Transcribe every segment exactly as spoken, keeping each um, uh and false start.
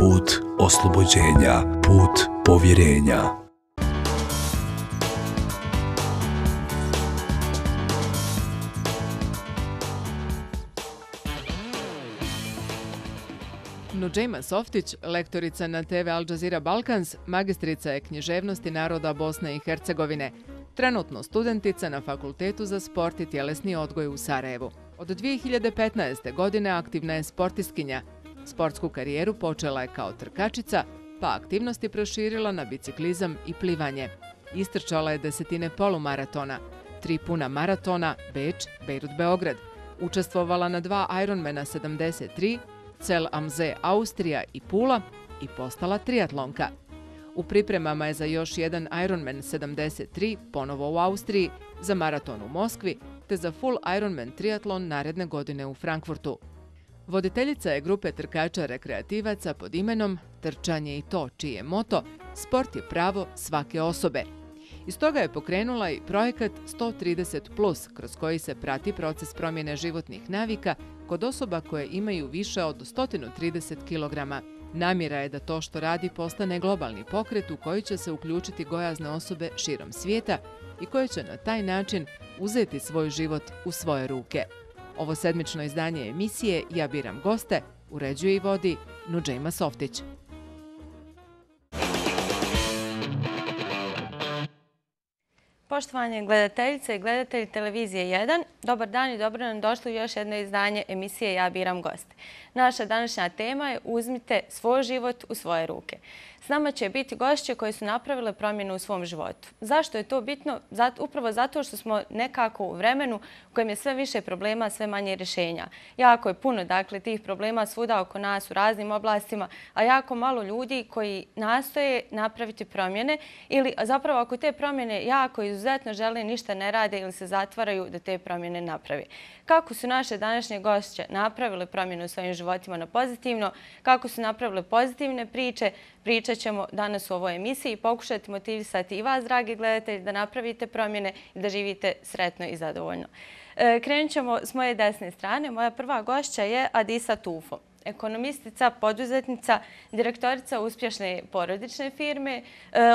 put oslobođenja, put povjerenja. Nudžejma Softić, lektorica na te ve Al Jazeera Balkans, magistrica je književnosti naroda Bosne i Hercegovine, trenutno studentica na Fakultetu za sport i tjelesni odgoj u Sarajevu. Od dvije hiljade petnaeste. godine aktivna je sportistkinja. Sportsku karijeru počela je kao trkačica, pa aktivnosti proširila na biciklizam i plivanje. Istrčala je desetine polumaratona, tri puna maratona, Beč, Bejrut, Beograd. Učestvovala na dva Ironmana sedamdeset tri, Cel Amze Austrija i Pula i postala triatlonka. U pripremama je za još jedan Ironman sedamdeset tri, ponovo u Austriji, za maraton u Moskvi, te za full Ironman triatlon naredne godine u Frankfurtu. Voditeljica je grupe trkača rekreativaca pod imenom Trčanje i to, čiji je moto Sport je pravo svake osobe. Iz toga je pokrenula i projekat sto trideset plus, kroz koji se prati proces promjene životnih navika kod osoba koje imaju više od sto trideset kilograma. Namjera je da to što radi postane globalni pokret u koji će se uključiti gojazne osobe širom svijeta i koje će na taj način uzeti svoj život u svoje ruke. Ovo sedmično izdanje emisije Ja biram goste uređuje i vodi Nudžejma Softić. Poštovanje gledateljice i gledatelji televizije jedan, dobar dan i dobro nam došli u još jedno izdanje emisije Ja biram goste. Naša današnja tema je Uzmite svoj život u svoje ruke. S nama će biti gošće koje su napravile promjenu u svom životu. Zašto je to bitno? Upravo zato što smo nekako u vremenu u kojem je sve više problema, sve manje rješenja. Jako je puno dakle, tih problema svuda oko nas u raznim oblastima, a jako malo ljudi koji nastoje napraviti promjene ili zapravo ako te promjene jako izuzetno žele, ništa ne rade ili se zatvaraju da te promjene napravi. Kako su naše današnje gošće napravile promjenu u svojim životima na pozitivno, kako su napravile pozitivne priče, pričat ćemo danas u ovoj emisiji i pokušati motivisati i vas, dragi gledatelji, da napravite promjene i da živite sretno i zadovoljno. Krenut ćemo s moje desne strane. Moja prva gošća je Adisa Tufo, ekonomistica, poduzetnica, direktorica uspješne porodične firme,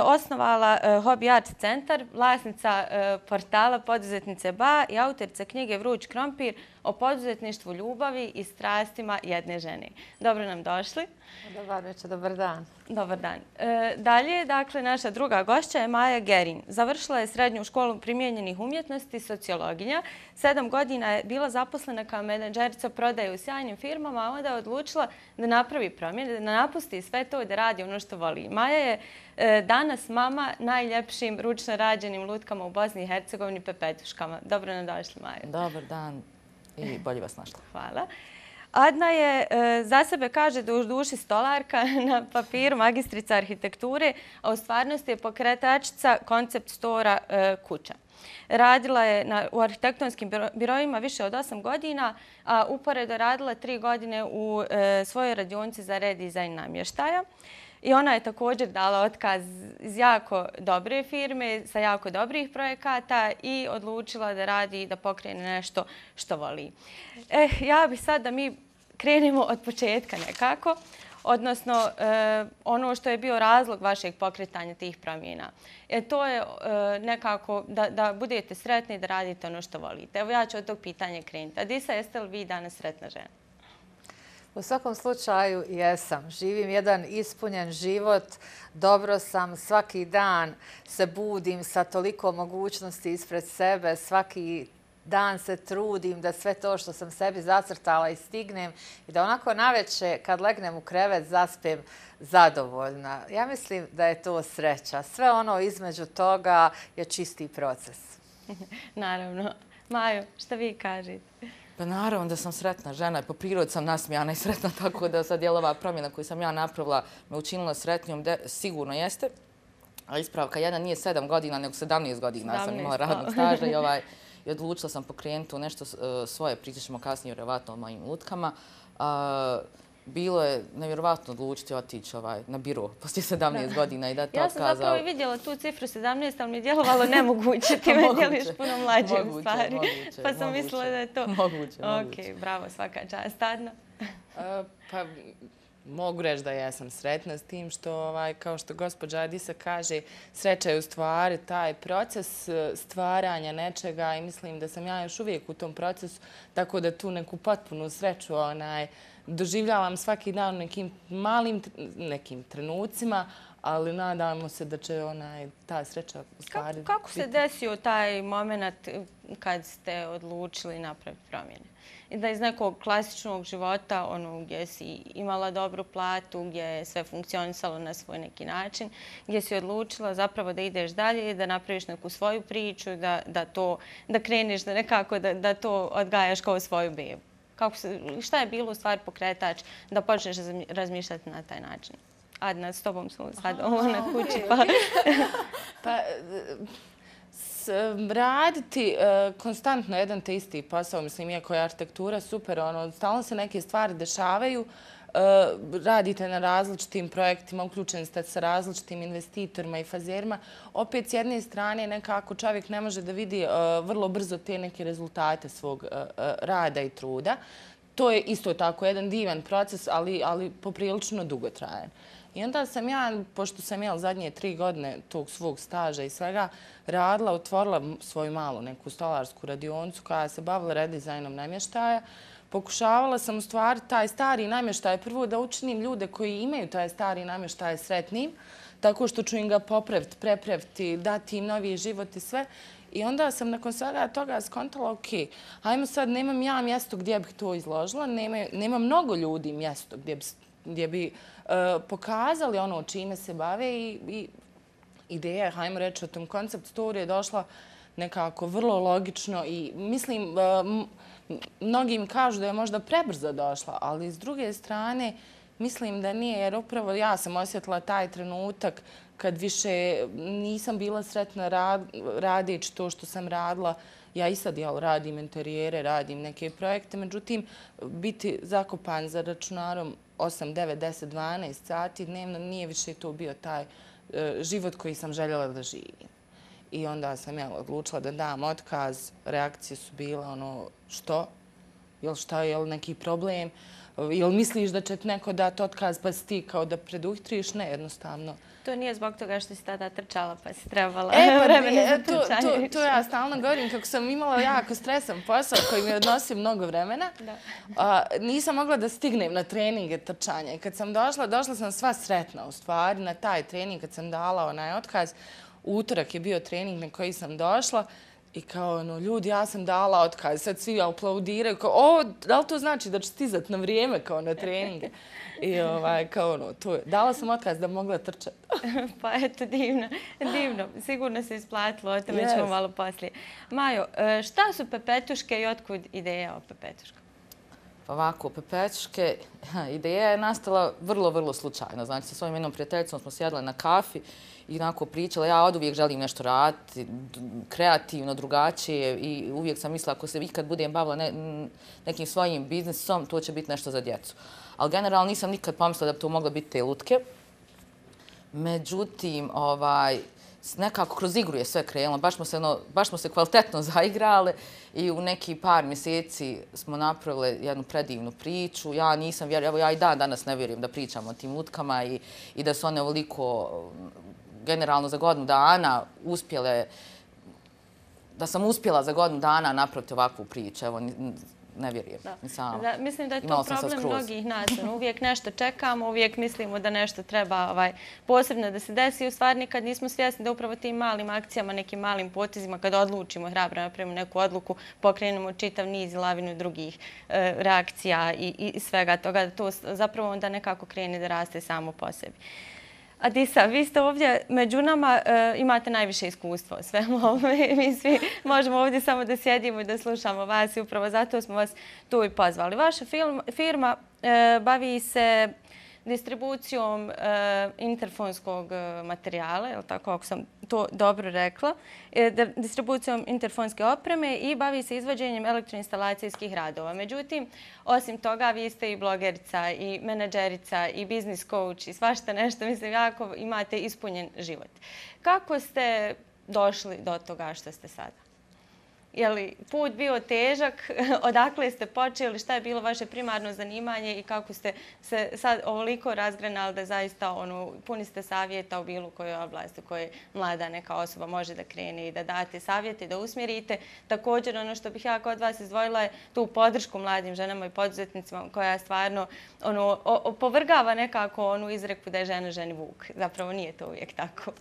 osnovala Hobby Art centar, vlasnica portala Poduzetnice Ba i autorica knjige Vruć krompir o poduzetništvu, ljubavi i strastima jedne žene. Dobro nam došli. Dobar večer, dobar dan. Dobar dan. Dalje, dakle, naša druga gošća je Maja Gerin. Završila je srednju školu primijenjenih umjetnosti, sociologinja. Sedam godina je bila zaposlena kao menadžerica prodaje u sjajnim firmama, a onda je odlučila da napravi promjene, da napusti sve to i da radi ono što voli. Maja je danas mama najljepšim ručno rađenim lutkama u Bosni i Hercegovini, pepetuškama. Dobro nam došli, Maja. Dobar dan i bolje vas našla. Hvala. Adna je, za sebe kaže da u duši stolarka, na papiru magistrica arhitekture, a u stvarnosti je pokretačica koncept stora Kuća. Radila je u arhitektonskim biroima više od osam godina, a uporedo radila tri godine u svojoj radionici za redizajn namještaja. I ona je također dala otkaz iz jako dobre firme, sa jako dobrih projekata i odlučila da radi i da pokrene nešto što voli. Eh, ja bih sad da mi krenemo od početka nekako, odnosno ono što je bio razlog vašeg pokretanja tih promjena. E, to je nekako da, da budete sretni i da radite ono što volite. Evo ja ću od tog pitanja krenuti. Adisa, jeste li vi danas sretna žena? U svakom slučaju jesam. Živim jedan ispunjen život. Dobro sam. Svaki dan se budim sa toliko mogućnosti ispred sebe. Svaki dan se trudim da sve to što sam sebi zacrtala i stignem i da onako naveče kad legnem u krevet zaspem zadovoljna. Ja mislim da je to sreća. Sve ono između toga je čisti proces. Naravno. Maju, šta vi kažete? Pa naravno da sam sretna žena. Po prirodi sam nasmijana i sretna, tako da sad je ova promjena koju sam ja napravila me učinila sretnijom. Sigurno jeste. A ispravka jedna nije sedam godina, nego sedamnaest godina sam imala radnog staža i ovaj... I odlučila sam pokrenuti nešto svoje, pričat ćemo kasnije vjerovatno o mojim lutkama. Bilo je nevjerovatno odlučiti otići na biro poslije sedamnaest godina i dati otkaz. Ja sam zapravo i vidjela tu cifru sedamnaest, ali mi je djelovalo nemoguće. Ti me djeliš puno mlađe u stvari. Pa sam mislila da je to... Moguće, moguće. Ok, bravo, svaka čast. Adna? Pa Mogu reći da ja sam sretna s tim što, ovaj, kao što gospođa Adisa kaže, sreća je u stvari taj proces stvaranja nečega i mislim da sam ja još uvijek u tom procesu, tako da tu neku potpunu sreću onaj, doživljavam svaki dan u nekim malim nekim trenucima, ali nadamo se da će onaj, ta sreća u stvari Kako, kako se desio taj moment kad ste odlučili napraviti promjene? I da iz nekog klasičnog života, ono gdje si imala dobru platu, gdje je sve funkcionisalo na svoj neki način, gdje si odlučila zapravo da ideš dalje i da napraviš neku svoju priču, da, da, to, da kreniš, da nekako da, da to odgajaš kao svoju bebu. Kako se, šta je bilo u stvari pokretač da počneš razmišljati na taj način? Adna, s tobom su sad ovo na kući. Pa, pa raditi uh, konstantno jedan te isti posao, mislim, iako je arhitektura super, ono, stalno se neke stvari dešavaju, uh, radite na različitim projektima, uključeni ste sa različitim investitorima i fazerima. Opet, s jedne strane, nekako čovjek ne može da vidi uh, vrlo brzo te neke rezultate svog uh, uh, rada i truda. To je isto tako jedan divan proces, ali, ali poprilično dugotrajan. I onda sam ja, pošto sam jel zadnje tri godine tog svog staža i svega, radila, otvorila svoju malu neku stolarsku radionicu koja se bavila redizajnom namještaja. Pokušavala sam u stvari taj stari namještaj prvo da učinim ljude koji imaju taj stari namještaj sretnim, tako što ću im ga popraviti, prepraviti, dati im novi život i sve. I onda sam nakon svega toga skontala, ok, hajmo sad, nemam ja mjesto gdje bih to izložila, nema, nema mnogo ljudi mjesto gdje bi, gdje bi uh, pokazali ono čime se bave i, i ideja, hajmo reći, o tom koncept story je došla nekako vrlo logično i mislim, uh, mnogi kažu da je možda prebrzo došla, ali s druge strane mislim da nije, jer upravo ja sam osjetila taj trenutak kad više nisam bila sretna rad, radići to što sam radila. Ja i sad jel, radim interijere, radim neke projekte, međutim, biti zakopan za računarom osam, devet, deset, dvanaest sati dnevno nije više to bio taj uh, život koji sam željela da živim. I onda sam jel, odlučila da dam otkaz. Reakcije su bile ono, što? Jel šta, jel neki problem? Jel misliš da će ti neko dati otkaz pa si ti kao da preduhitriš? Ne, jednostavno. To nije zbog toga što si tada trčala pa si trebala e, pa, vremena za to, trčanje. To, to ja stalno govorim kako sam imala jako stresan posao koji mi odnosi mnogo vremena. Da. A, nisam mogla da stignem na treninge trčanja. I kad sam došla, došla sam sva sretna u stvari na taj trening kad sam dala onaj otkaz. Utorak je bio trening na koji sam došla. I kao, ono, ljudi, ja sam dala otkaz, sad svi aplaudiraju, kao, o, da li to znači da ću stizati na vrijeme, kao na treninge? I, ovaj, kao, ono, to je, dala sam otkaz da mogla trčati. Pa, eto, divno, divno. Sigurno se isplatilo, o tome ćemo malo poslije. Majo, šta su pepetuške i otkud ideja o pepetuškama? Ovako, pepetuške, ideja je nastala vrlo, vrlo slučajno. Znači, sa svojim jednom prijateljicom smo sjedle na kafi i onako pričala, ja od uvijek želim nešto raditi, kreativno, drugačije i uvijek sam mislila ako se ikad budem bavila ne, nekim svojim biznisom, to će biti nešto za djecu. Ali generalno nisam nikad pomislila da bi to mogla biti te lutke. Međutim, ovaj, nekako kroz igru je sve krenulo, baš smo se, no, baš smo se kvalitetno zaigrale i u neki par mjeseci smo napravili jednu predivnu priču. Ja nisam vjerujem, evo ja i dan danas ne vjerujem da pričamo o tim lutkama i, i da su one ovoliko generalno za godinu dana uspjele, da sam uspjela za godinu dana napraviti ovakvu priču. Evo, ne vjerujem. Da. Nisam, da, mislim da je to problem mnogih nas. Uvijek nešto čekamo, uvijek mislimo da nešto treba ovaj, posebno da se desi. U stvari nikad nismo svjesni da upravo tim malim akcijama, nekim malim potezima, kada odlučimo hrabro napravimo neku odluku, pokrenemo čitav niz i lavinu drugih e, reakcija i, i svega toga. To zapravo onda nekako krene da raste samo po sebi. Adisa, vi ste ovdje među nama, e, imate najviše iskustva o svemu ovome. Mi svi možemo ovdje samo da sjedimo i da slušamo vas i upravo zato smo vas tu i pozvali. Vaša film, firma e, bavi se distribucijom e, interfonskog materijala, je li tako, ako sam to dobro rekla, e, distribucijom interfonske opreme i bavi se izvođenjem elektroinstalacijskih radova. Međutim, osim toga, vi ste i blogerica, i menadžerica, i biznis coach, i svašta nešto. Mislim, jako imate ispunjen život. Kako ste došli do toga što ste sada? Je li put bio težak? Odakle ste počeli? Šta je bilo vaše primarno zanimanje i kako ste se sad ovoliko razgranali da zaista ono, puni ste savjeta u bilo kojoj oblasti u kojoj mlada neka osoba može da krene i da date savjete, da usmjerite. Također ono što bih ja kod vas izdvojila je tu podršku mladim ženama i poduzetnicima koja stvarno ono, opovrgava nekako onu izreku da je žena ženi vuk. Zapravo nije to uvijek tako.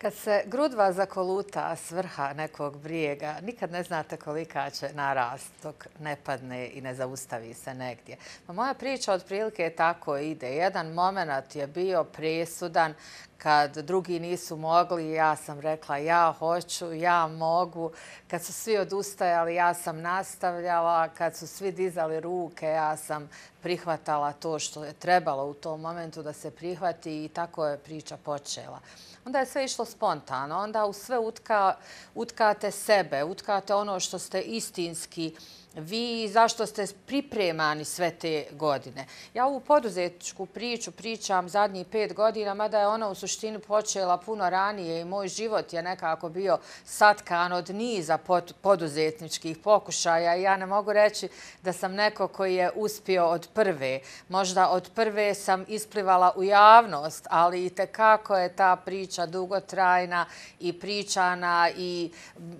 Kad se grudva zakoluta s vrha nekog brijega, nikad ne znate kolika će narast dok ne padne i ne zaustavi se negdje. Pa moja priča otprilike tako ide. Jedan moment je bio presudan kad drugi nisu mogli, ja sam rekla ja hoću, ja mogu. Kad su svi odustajali, ja sam nastavljala. Kad su svi dizali ruke, ja sam prihvatala to što je trebalo u tom momentu da se prihvati i tako je priča počela. Onda je sve išlo spontano, onda u sve utka, utkate sebe, utkate ono što ste istinski vi, zašto ste pripremani sve te godine. Ja ovu poduzetničku priču pričam zadnjih pet godina, mada je ona u suštini počela puno ranije i moj život je nekako bio satkan od niza poduzetničkih pokušaja. Ja ne mogu reći da sam neko koji je uspio od prve. Možda od prve sam isplivala u javnost, ali i tekako je ta priča dugotrajna i pričana i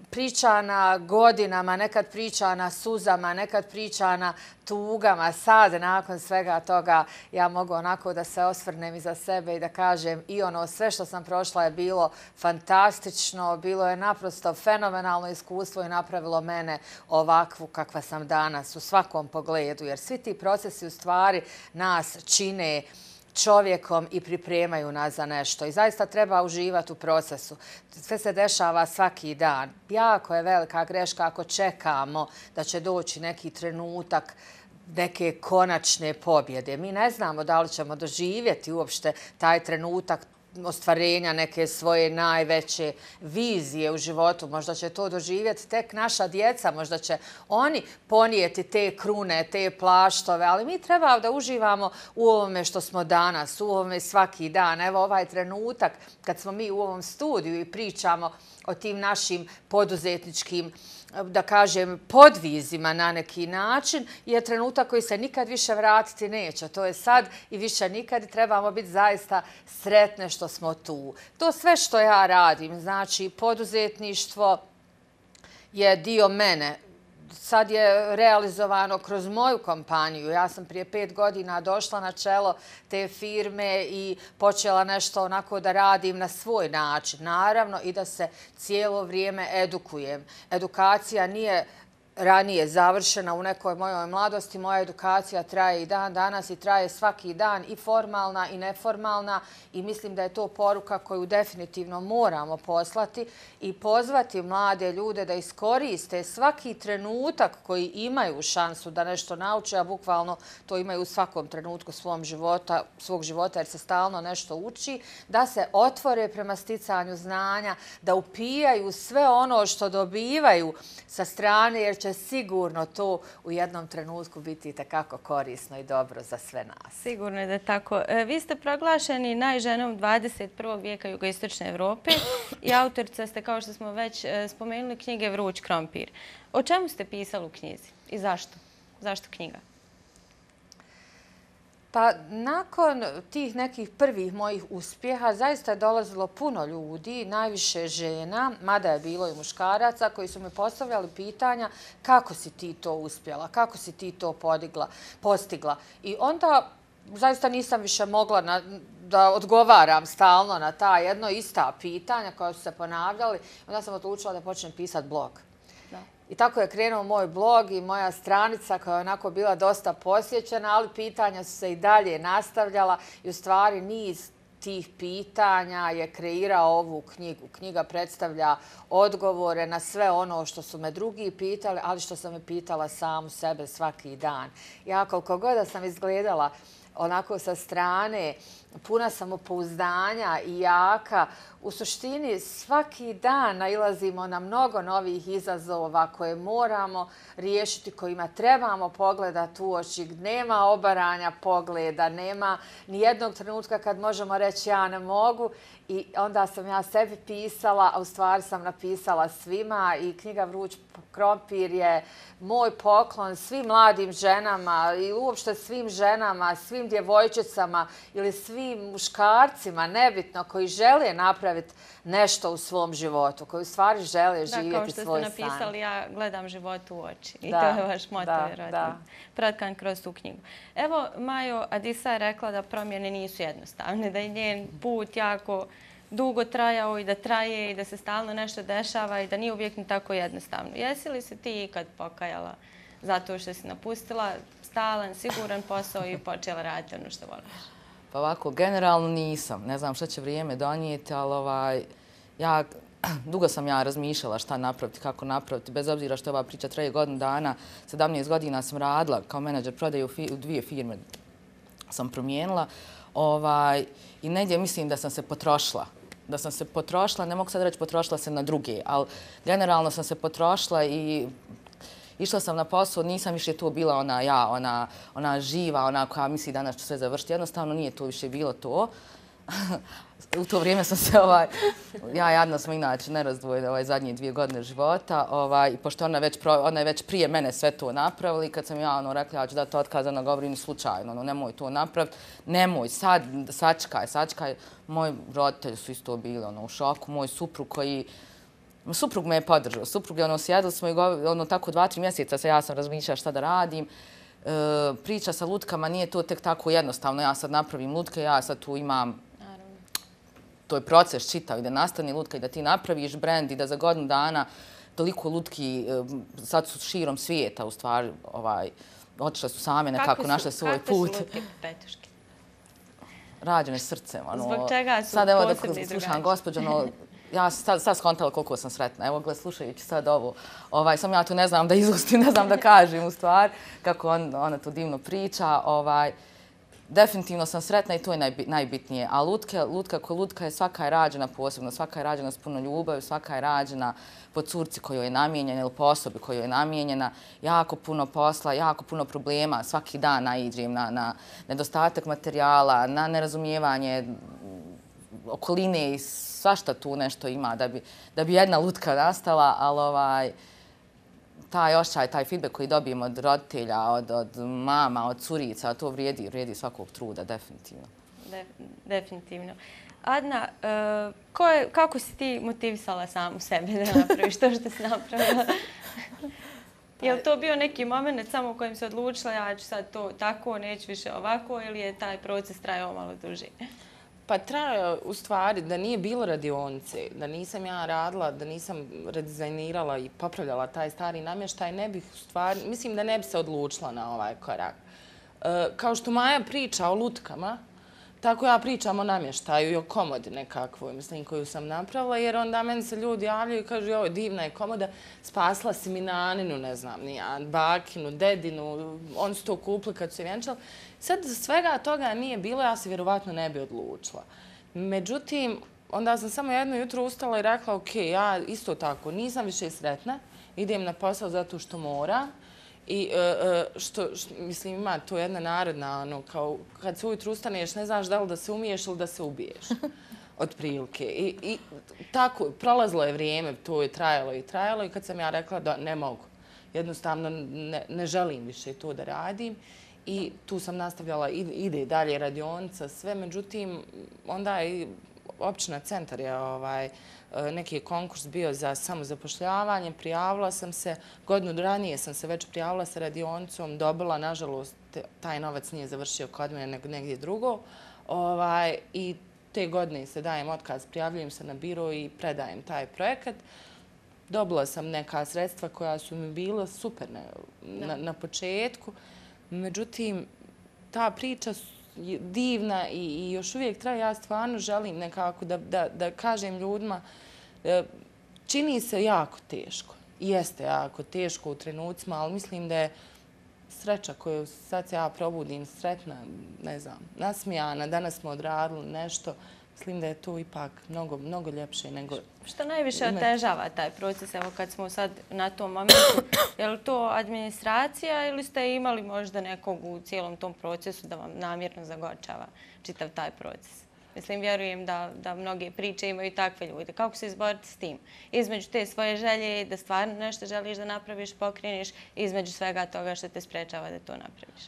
pričana godinama, nekad pričana suzama, nekad pričana tugama. Sad, nakon svega toga, ja mogu onako da se osvrnem iza sebe i da kažem i ono sve što sam prošla je bilo fantastično, bilo je naprosto fenomenalno iskustvo i napravilo mene ovakvu kakva sam danas u svakom pogledu, jer svi ti procesi u stvari nas čine čovjekom i pripremaju nas za nešto. I zaista treba uživati u procesu. Sve se dešava svaki dan. Jako je velika greška ako čekamo da će doći neki trenutak neke konačne pobjede. Mi ne znamo da li ćemo doživjeti uopšte taj trenutak ostvarenja neke svoje najveće vizije u životu. Možda će to doživjeti tek naša djeca, možda će oni ponijeti te krune, te plaštove, ali mi treba da uživamo u ovome što smo danas, u ovome svaki dan. Evo ovaj trenutak kad smo mi u ovom studiju i pričamo o tim našim poduzetničkim, da kažem, podvizima na neki način, je trenutak koji se nikad više vratiti neće. To je sad i više nikad i trebamo biti zaista sretne što smo tu. To sve što ja radim, znači poduzetništvo je dio mene. Sad je realizovano kroz moju kompaniju. Ja sam prije pet godina došla na čelo te firme i počela nešto onako da radim na svoj način. Naravno i da se cijelo vrijeme edukujem. Edukacija nije ranije završena u nekoj mojoj mladosti. Moja edukacija traje i dan danas i traje svaki dan i formalna i neformalna i mislim da je to poruka koju definitivno moramo poslati i pozvati mlade ljude da iskoriste svaki trenutak koji imaju šansu da nešto nauče, a bukvalno to imaju u svakom trenutku svom života, svog života jer se stalno nešto uči, da se otvore prema sticanju znanja, da upijaju sve ono što dobivaju sa strane jer će sigurno to u jednom trenutku biti itekako korisno i dobro za sve nas. Sigurno je da je tako. Vi ste proglašeni najženom dvadeset prvog vijeka jugoistočne Evrope i autorica ste, kao što smo već spomenuli, knjige Vruć krompir. O čemu ste pisali u knjizi i zašto? Zašto knjiga? Pa nakon tih nekih prvih mojih uspjeha zaista je dolazilo puno ljudi, najviše žena, mada je bilo i muškaraca, koji su mi postavljali pitanja kako si ti to uspjela, kako si ti to podigla, postigla. I onda zaista nisam više mogla na, da odgovaram stalno na ta jedno ista pitanja koja su se ponavljali. Onda sam odlučila da počnem pisati blog. I tako je krenuo moj blog i moja stranica koja je onako bila dosta posjećena, ali pitanja su se i dalje nastavljala i u stvari niz tih pitanja je kreirao ovu knjigu. Knjiga predstavlja odgovore na sve ono što su me drugi pitali, ali što sam me pitala samu sebe svaki dan. Ja koliko god da sam izgledala onako sa strane, puna samopouzdanja i jaka, u suštini svaki dan nailazimo na mnogo novih izazova koje moramo riješiti, kojima trebamo pogledati u oči. Nema obaranja pogleda, nema ni jednog trenutka kad možemo reći reći ja ne mogu. I onda sam ja sebi pisala, a u stvari sam napisala svima i knjiga Vruć krompir je moj poklon svim mladim ženama i uopšte svim ženama, svim djevojčicama ili svim muškarcima, nebitno, koji žele napraviti nešto u svom životu, koji u stvari žele živjeti svoj san. Da, kao što ste napisali, ja gledam život u oči. I da, to je vaš moto, vjerojatno, pratkan kroz tu knjigu. Evo, Majo, Adisa je rekla da promjene nisu jednostavne, da je njen put jako dugo trajao i da traje i da se stalno nešto dešava i da nije uvijek ni tako jednostavno. Jesi li se ti ikad pokajala zato što si napustila stalan, siguran posao i počela raditi ono što voliš? Pa ovako, generalno nisam. Ne znam šta će vrijeme donijeti, ali ovaj, ja, dugo sam ja razmišljala šta napraviti, kako napraviti, bez obzira što ova priča traje godinu dana. sedamnaest godina sam radila kao menadžer prodaje u, fi, u dvije firme sam promijenila. Ovaj, I negdje mislim da sam se potrošila. Da sam se potrošila, ne mogu sad reći potrošila se na druge, ali generalno sam se potrošila i išla sam na posao, nisam više tu bila ona ja, ona, ona živa, ona koja misli danas ću sve završiti. Jednostavno nije to više bilo to. U to vrijeme sam se, ovaj, ja jadno smo inače nerazdvojene ovaj, zadnje dvije godine života. Ovaj, pošto ona, već, ona je već prije mene sve to napravila i kad sam ja ono, rekla ja ću dati otkaz, ona govori ni slučajno, ono, nemoj to napraviti, nemoj, sad, sačkaj, sačkaj. Moji roditelji su isto bili ono, u šoku, moj suprug koji, suprug me je podržao, suprug je ono, sjedili smo i govorili, ono, tako dva, tri mjeseca se ja sam razmišljala šta da radim. E, priča sa lutkama nije to tek tako jednostavno, ja sad napravim lutke, ja sad tu imam to je proces čitav i da nastane lutka i da ti napraviš brend i da za godinu dana toliko lutki sad su širom svijeta u stvari ovaj, otišle su same nekako, našle svoj put. Kakve su lutke Petuške? Rađene srcem. Ono, zbog čega su sad, evo, posebni da slušam gospođo, no, ja sam sad, sad skontala koliko sam sretna. Evo, gled, slušajući sad ovo, ovaj, sam ja tu ne znam da izustim, ne znam da kažem u stvari kako on, ona tu divno priča. Ovaj, definitivno sam sretna i to je najbitnije. A lutke, lutka ko lutka je svaka je rađena posebno, svaka je rađena s puno ljubavi, svaka je rađena po curci kojoj je namijenjena ili po osobi kojoj je namijenjena. Jako puno posla, jako puno problema. Svaki dan naiđem na, na nedostatak materijala, na nerazumijevanje okoline i svašta tu nešto ima da bi, da bi jedna lutka nastala, ali ovaj, taj ošćaj, taj feedback koji dobijemo od roditelja, od, od mama, od curica, to vrijedi, vrijedi svakog truda, definitivno. De, definitivno. Adna, uh, ko je, kako si ti motivisala samu sebe da napraviš to što si napravila? Je li to bio neki moment samo u kojem se odlučila ja ću sad to tako, neću više ovako ili je taj proces trajao malo duži? Pa trajao u stvari da nije bilo radionice, da nisam ja radila, da nisam redizajnirala i popravljala taj stari namještaj, ne bih u stvari, mislim da ne bi se odlučila na ovaj korak. E, kao što Maja priča o lutkama, tako ja pričam o namještaju i o komodi nekakvoj, mislim, koju sam napravila, jer onda meni se ljudi javljaju i kažu, joj, divna je komoda, spasla si mi naninu, ne znam, nijan, bakinu, dedinu, oni su to kupili kad su je vjenčali. Sad svega toga nije bilo, ja se vjerovatno ne bi odlučila. Međutim, onda sam samo jedno jutro ustala i rekla, ok, ja isto tako nisam više sretna, idem na posao zato što moram. I što, što, mislim, ima to jedna narodna, ono, kao kad se ujutru ustaneš, ne znaš da li da se umiješ ili da se ubiješ, od prilike. I, i tako, prolazilo je vrijeme, to je trajalo i trajalo i kad sam ja rekla da ne mogu, jednostavno ne, ne želim više to da radim i tu sam nastavljala, ide dalje radionica, sve, međutim, onda i općina centar je ovaj, neki konkurs bio za samozapošljavanje, prijavila sam se, godinu ranije sam se već prijavila sa radionicom, dobila, nažalost, taj novac nije završio kod mene nego negdje drugo. Ovaj, I te godine se dajem otkaz, prijavljujem se na biro i predajem taj projekat. Dobila sam neka sredstva koja su mi bila super na, na, na početku, međutim, ta priča je divna i, i još uvijek traje. Ja stvarno želim nekako da, da, da kažem ljudima, čini se jako teško. Jeste jako teško u trenucima, ali mislim da je sreća koju sad se ja probudim sretna, ne znam, nasmijana, danas smo odradili nešto. Mislim da je to ipak mnogo, mnogo ljepše nego... Što najviše otežava taj proces, evo kad smo sad na tom momentu, je li to administracija ili ste imali možda nekog u cijelom tom procesu da vam namjerno zagorčava čitav taj proces? Mislim, vjerujem da, da mnoge priče imaju takve ljude. Kako se izboriti s tim? Između te svoje želje da stvarno nešto želiš da napraviš, pokreniš, između svega toga što te sprečava da to napraviš.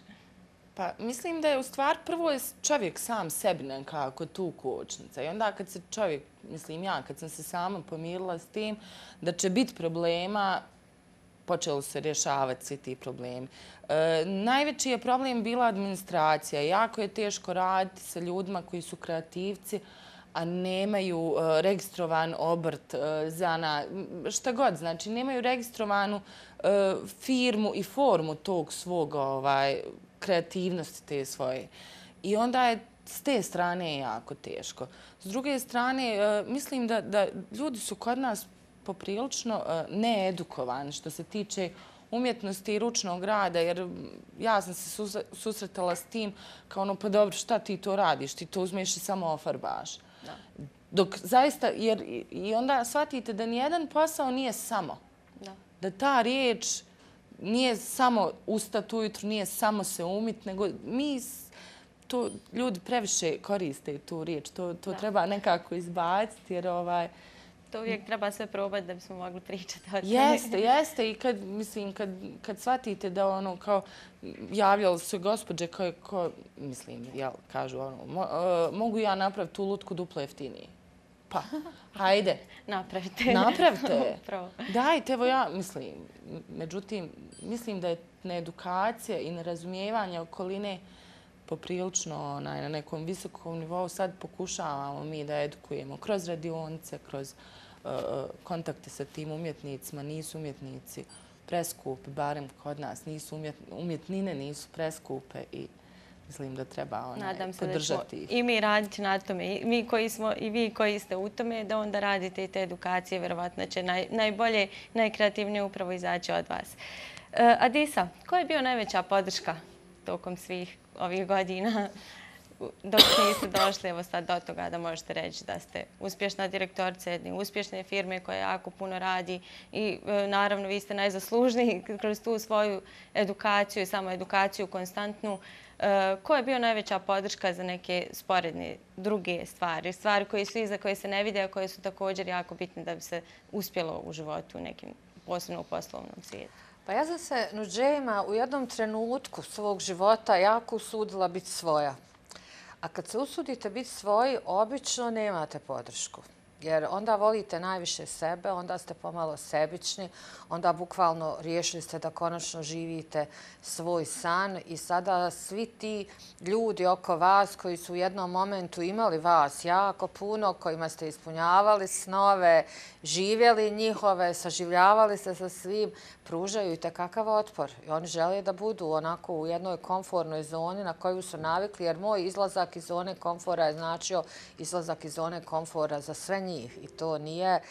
Pa mislim da je u stvar prvo je čovjek sam sebi nekako tu kočnica. I onda kad se čovjek, mislim ja, kad sam se sama pomirila s tim da će biti problema, počelo se rješavati svi ti problemi. E, najveći je problem bila administracija. Jako je teško raditi sa ljudima koji su kreativci, a nemaju e, registrovan obrt, e, zana, šta god. Znači, nemaju registrovanu e, firmu i formu tog svog ovaj, kreativnosti te svoje. I onda je s te strane jako teško. S druge strane, e, mislim da, da ljudi su kod nas poprilično needukovani što se tiče umjetnosti i ručnog rada, jer ja sam se susretala s tim kao ono, pa dobro, šta ti to radiš? Ti to uzmeš i samo ofarbaš. Dok zaista, jer i onda shvatite da nijedan posao nije samo. Da ta riječ nije samo ustati ujutru, nije samo se umit, nego mi to ljudi previše koriste tu riječ. To, to treba nekako izbaciti, jer ovaj... To uvijek treba sve probati da bismo mogli pričati o tome. Jeste, jeste. I kad, mislim, kad, kad shvatite da ono, kao, javljali su gospođe koje, ko, mislim, jel, kažu, ono, mo, uh, mogu ja napraviti tu lutku duplo jeftinije. Pa, hajde. Napravite. Napravite. Dajte, evo ja, mislim, međutim, mislim da je needukacija i nerazumijevanje okoline poprilično onaj, na nekom visokom nivou. Sad pokušavamo mi da edukujemo kroz radionice, kroz uh, kontakte sa tim umjetnicima. Nisu umjetnici preskupi, barem kod nas. Nisu umjet, umjetnine nisu preskupe i mislim da treba onaj, Nadam se podržati da ih. I mi raditi na tome. I mi koji smo, i vi koji ste u tome, da onda radite i te edukacije. Vjerovatno će naj, najbolje, najkreativnije upravo izaći od vas. Uh, Adisa, koja je bio najveća podrška tokom svih ovih godina dok niste došli evo sad do toga da možete reći da ste uspješna direktorica jedne uspješne firme koja jako puno radi i e, naravno vi ste najzaslužniji kroz tu svoju edukaciju i samo edukaciju konstantnu. E, koja je bio najveća podrška za neke sporedne druge stvari? Stvari koje su iza, koje se ne vide, a koje su također jako bitne da bi se uspjelo u životu u nekim, posebno u poslovnom svijetu? Pa ja sam se Nuđejima u jednom trenutku svog života jako usudila biti svoja. A kad se usudite biti svoji, obično nemate podršku. Jer onda volite najviše sebe, onda ste pomalo sebični, onda bukvalno riješili ste da konačno živite svoj san i sada svi ti ljudi oko vas koji su u jednom momentu imali vas jako puno, kojima ste ispunjavali snove, živjeli njihove, saživljavali se sa svim, pružaju i tekakav otpor. I oni žele da budu onako u jednoj komfornoj zoni na koju su navikli, jer moj izlazak iz zone komfora je značio izlazak iz zone komfora za sve njih. I to nije,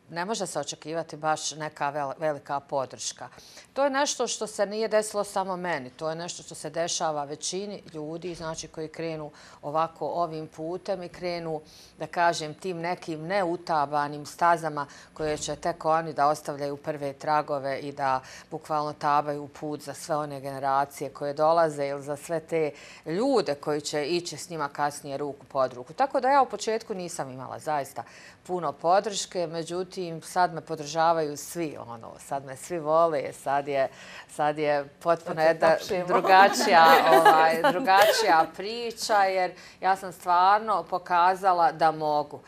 ne može se očekivati baš neka velika podrška. To je nešto što se nije desilo samo meni. To je nešto što se dešava većini ljudi, znači koji krenu ovako ovim putem i krenu, da kažem, tim nekim neutabanim stazama koje će tek oni da ostavljaju prve tragove i da bukvalno tabaju put za sve one generacije koje dolaze ili za sve te ljude koji će ići s njima kasnije ruku pod ruku. Tako da ja u početku nisam imala zaista puno podrške, međutim sad me podržavaju svi, ono, sad me svi vole, sad je, sad je potpuno jedna drugačija, ovaj, drugačija priča, jer ja sam stvarno pokazala da mogu.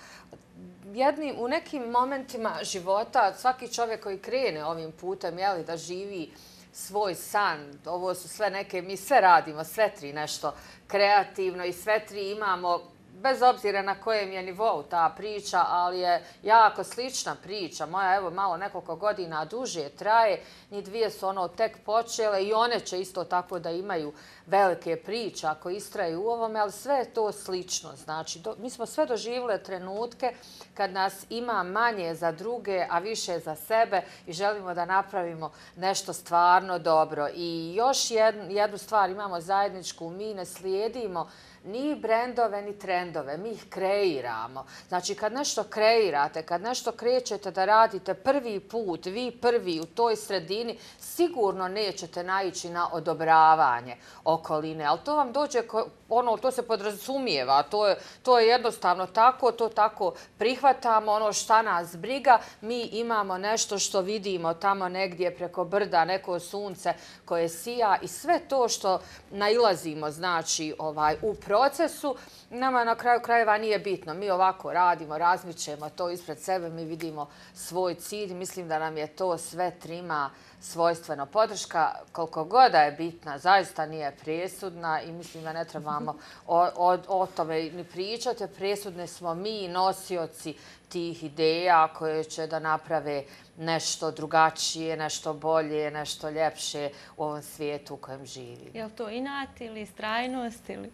Jednim, u nekim momentima života svaki čovjek koji krene ovim putem, jeli, da živi svoj san, ovo su sve neke, mi sve radimo, sve tri nešto kreativno i sve tri imamo, bez obzira na kojem je nivou ta priča, ali je jako slična priča. Moja, evo, malo nekoliko godina duže traje. Njih dvije su ono tek počele i one će isto tako da imaju velike priče ako istraju u ovome, ali sve je to slično. Znači, do, mi smo sve doživjeli trenutke kad nas ima manje za druge, a više za sebe i želimo da napravimo nešto stvarno dobro. I još jednu, jednu stvar imamo zajedničku, mi ne slijedimo ni brendove, ni trendove. trendove, mi ih kreiramo. Znači, kad nešto kreirate, kad nešto krećete da radite prvi put, vi prvi u toj sredini, sigurno nećete naići na odobravanje okoline, ali to vam dođe, ono, to se podrazumijeva, to je, to je jednostavno tako, to tako prihvatamo, ono šta nas briga, mi imamo nešto što vidimo tamo negdje preko brda, neko sunce koje sija i sve to što nailazimo, znači, ovaj, u procesu, nama na kraju krajeva nije bitno. Mi ovako radimo, razmičemo to ispred sebe, mi vidimo svoj cilj. Mislim da nam je to sve trima svojstveno. Podrška, koliko god je bitna, zaista nije presudna i mislim da ne trebamo o, o, o tome ni pričati. Presudni smo mi, nosioci tih ideja koje će da naprave nešto drugačije, nešto bolje, nešto ljepše u ovom svijetu u kojem živi. Je li to inat ili istrajnost ili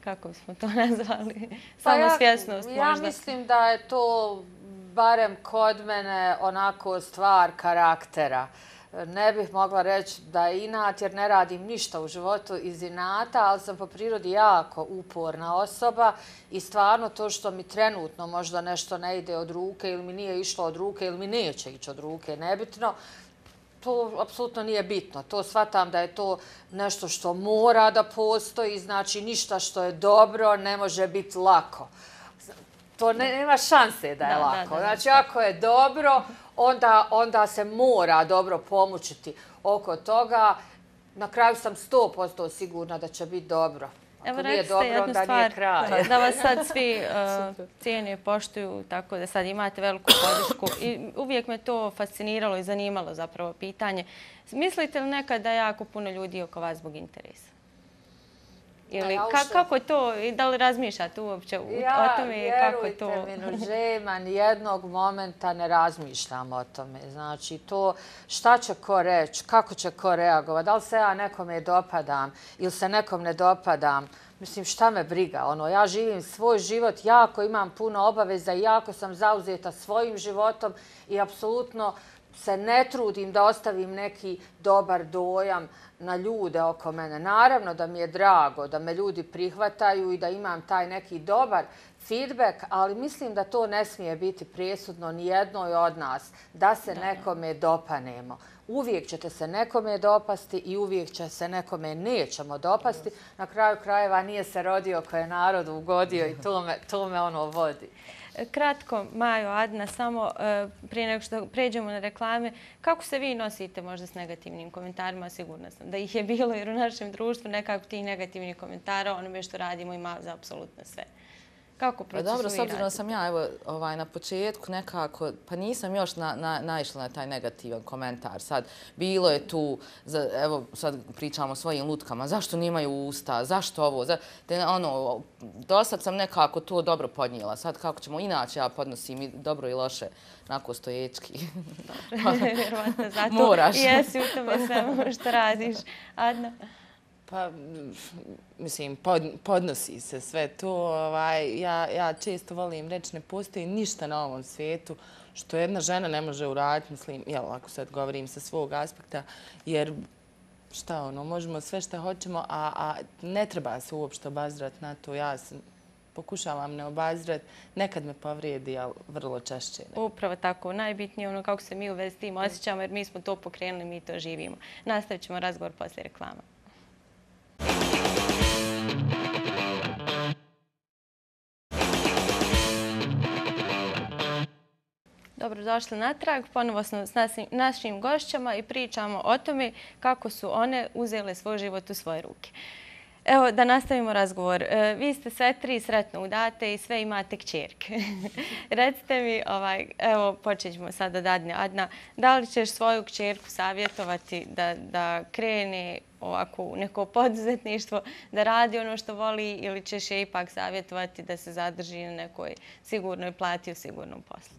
kako bismo to nazvali? Samosvjesnost možda? Ja mislim da je to barem kod mene onako stvar karaktera. Ne bih mogla reći da je inat jer ne radim ništa u životu iz inata, ali sam po prirodi jako uporna osoba i stvarno to što mi trenutno možda nešto ne ide od ruke ili mi nije išlo od ruke ili mi neće ići od ruke, nebitno, to apsolutno nije bitno. To shvatam da je to nešto što mora da postoji, znači ništa što je dobro ne može biti lako. To ne, nema šanse da je da, lako. Da, da, znači ako je dobro, onda, onda se mora dobro pomučiti oko toga. Na kraju sam sto posto sigurna da će biti dobro. Ako Evo, nije dobro, onda stvar, nije kraj. Da vas sad svi uh, cijene poštuju, tako da sad imate veliku podršku. I uvijek me to fasciniralo i zanimalo zapravo pitanje. Mislite li nekad da je jako puno ljudi oko vas zbog interesa? Ili ja, ka, kako to, da li razmišljate uopće ja, o tome? Kako to? Ja, vjerujte mi, Nužema, nijednog momenta ne razmišljam o tome. Znači, to šta će ko reći, kako će ko reagovati, da li se ja nekome dopadam ili se nekom ne dopadam. Mislim, šta me briga? Ono, ja živim svoj život, jako imam puno obaveza i jako sam zauzeta svojim životom i apsolutno se ne trudim da ostavim neki dobar dojam na ljude oko mene. Naravno da mi je drago da me ljudi prihvataju i da imam taj neki dobar feedback, ali mislim da to ne smije biti presudno ni jednoj od nas, da se nekome dopanemo. Uvijek ćete se nekome dopasti i uvijek će se nekome nećemo dopasti. Na kraju krajeva nije se rodio koje je narodu ugodio i to me, to me ono vodi. Kratko, Majo, Adna, samo prije nego što pređemo na reklame, kako se vi nosite možda s negativnim komentarima? Sigurna sam da ih je bilo jer u našem društvu nekako tih negativnih komentara onome što radimo ima za apsolutno sve. Kako procesuirate? Dobro, s obzirom da sam ja evo, ovaj, na početku nekako, pa nisam još na, na, naišla na taj negativan komentar. Sad, bilo je tu, za, evo sad pričamo o svojim lutkama, zašto nimaju usta, zašto ovo, za, te, ono, dosad sam nekako to dobro podnijela. Sad kako ćemo, inače ja podnosim i dobro i loše, onako stoječki. Dobro, vjerovatno zato Moraš. jesi u tome svemu što radiš. Adna? Pa, mislim, pod, podnosi se sve to. Ovaj, ja, ja često volim reći, ne postoji ništa na ovom svijetu što jedna žena ne može uraditi, mislim, jel, ako sad govorim sa svog aspekta, jer šta ono, možemo sve što hoćemo, a, a ne treba se uopšte obazirati na to. Ja sam, pokušavam ne obazirati, nekad me povrijedi, ali vrlo češće. Ne. Upravo tako, najbitnije ono kako se mi u vezi s tim osjećamo, jer mi smo to pokrenuli, mi to živimo. Nastavit ćemo razgovor poslije reklama. Dobrodošli natrag. Ponovo smo s našim gošćama i pričamo o tome kako su one uzele svoj život u svoje ruke. Evo, da nastavimo razgovor. Vi ste sve tri sretno udate i sve imate kćerke. Recite mi, ovaj, evo, počet ćemo sad od Adne. Adna, da li ćeš svoju kćerku savjetovati da, da krene ovako u neko poduzetništvo, da radi ono što voli ili ćeš je ipak savjetovati da se zadrži na nekoj sigurnoj plati u sigurnom poslu?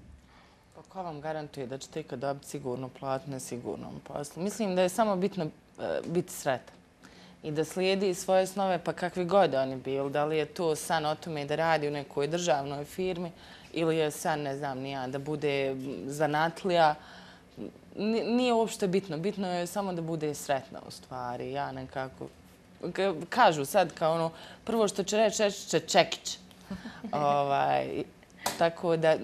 Pa ko vam garantuje da ćete ikad dobiti sigurnu platu na sigurnom poslu? Mislim da je samo bitno uh, biti sretan i da slijedi svoje snove, pa kakvi god oni bili. Da li je to san o tome da radi u nekoj državnoj firmi ili je san, ne znam, nija, da bude zanatlija. Nije uopšte bitno. Bitno je samo da bude sretna u stvari. Ja nekako... Kažu sad kao ono, prvo što će reći, reći će čekić. Ovaj, tako da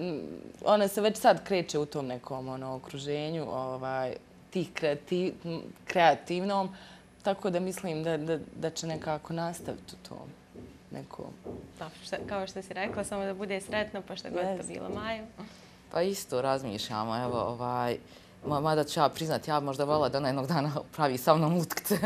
ona se već sad kreće u tom nekom ono, okruženju ovaj, tih kreativ, kreativnom, tako da mislim da, da, da će nekako nastaviti u tom nekom. Kao što si rekla, samo da bude sretno, pa što god to bilo, Maju. Pa isto razmišljamo, evo, ovaj, mada ću ja priznati, ja možda vola da ona jednog dana pravi sa mnom utkce.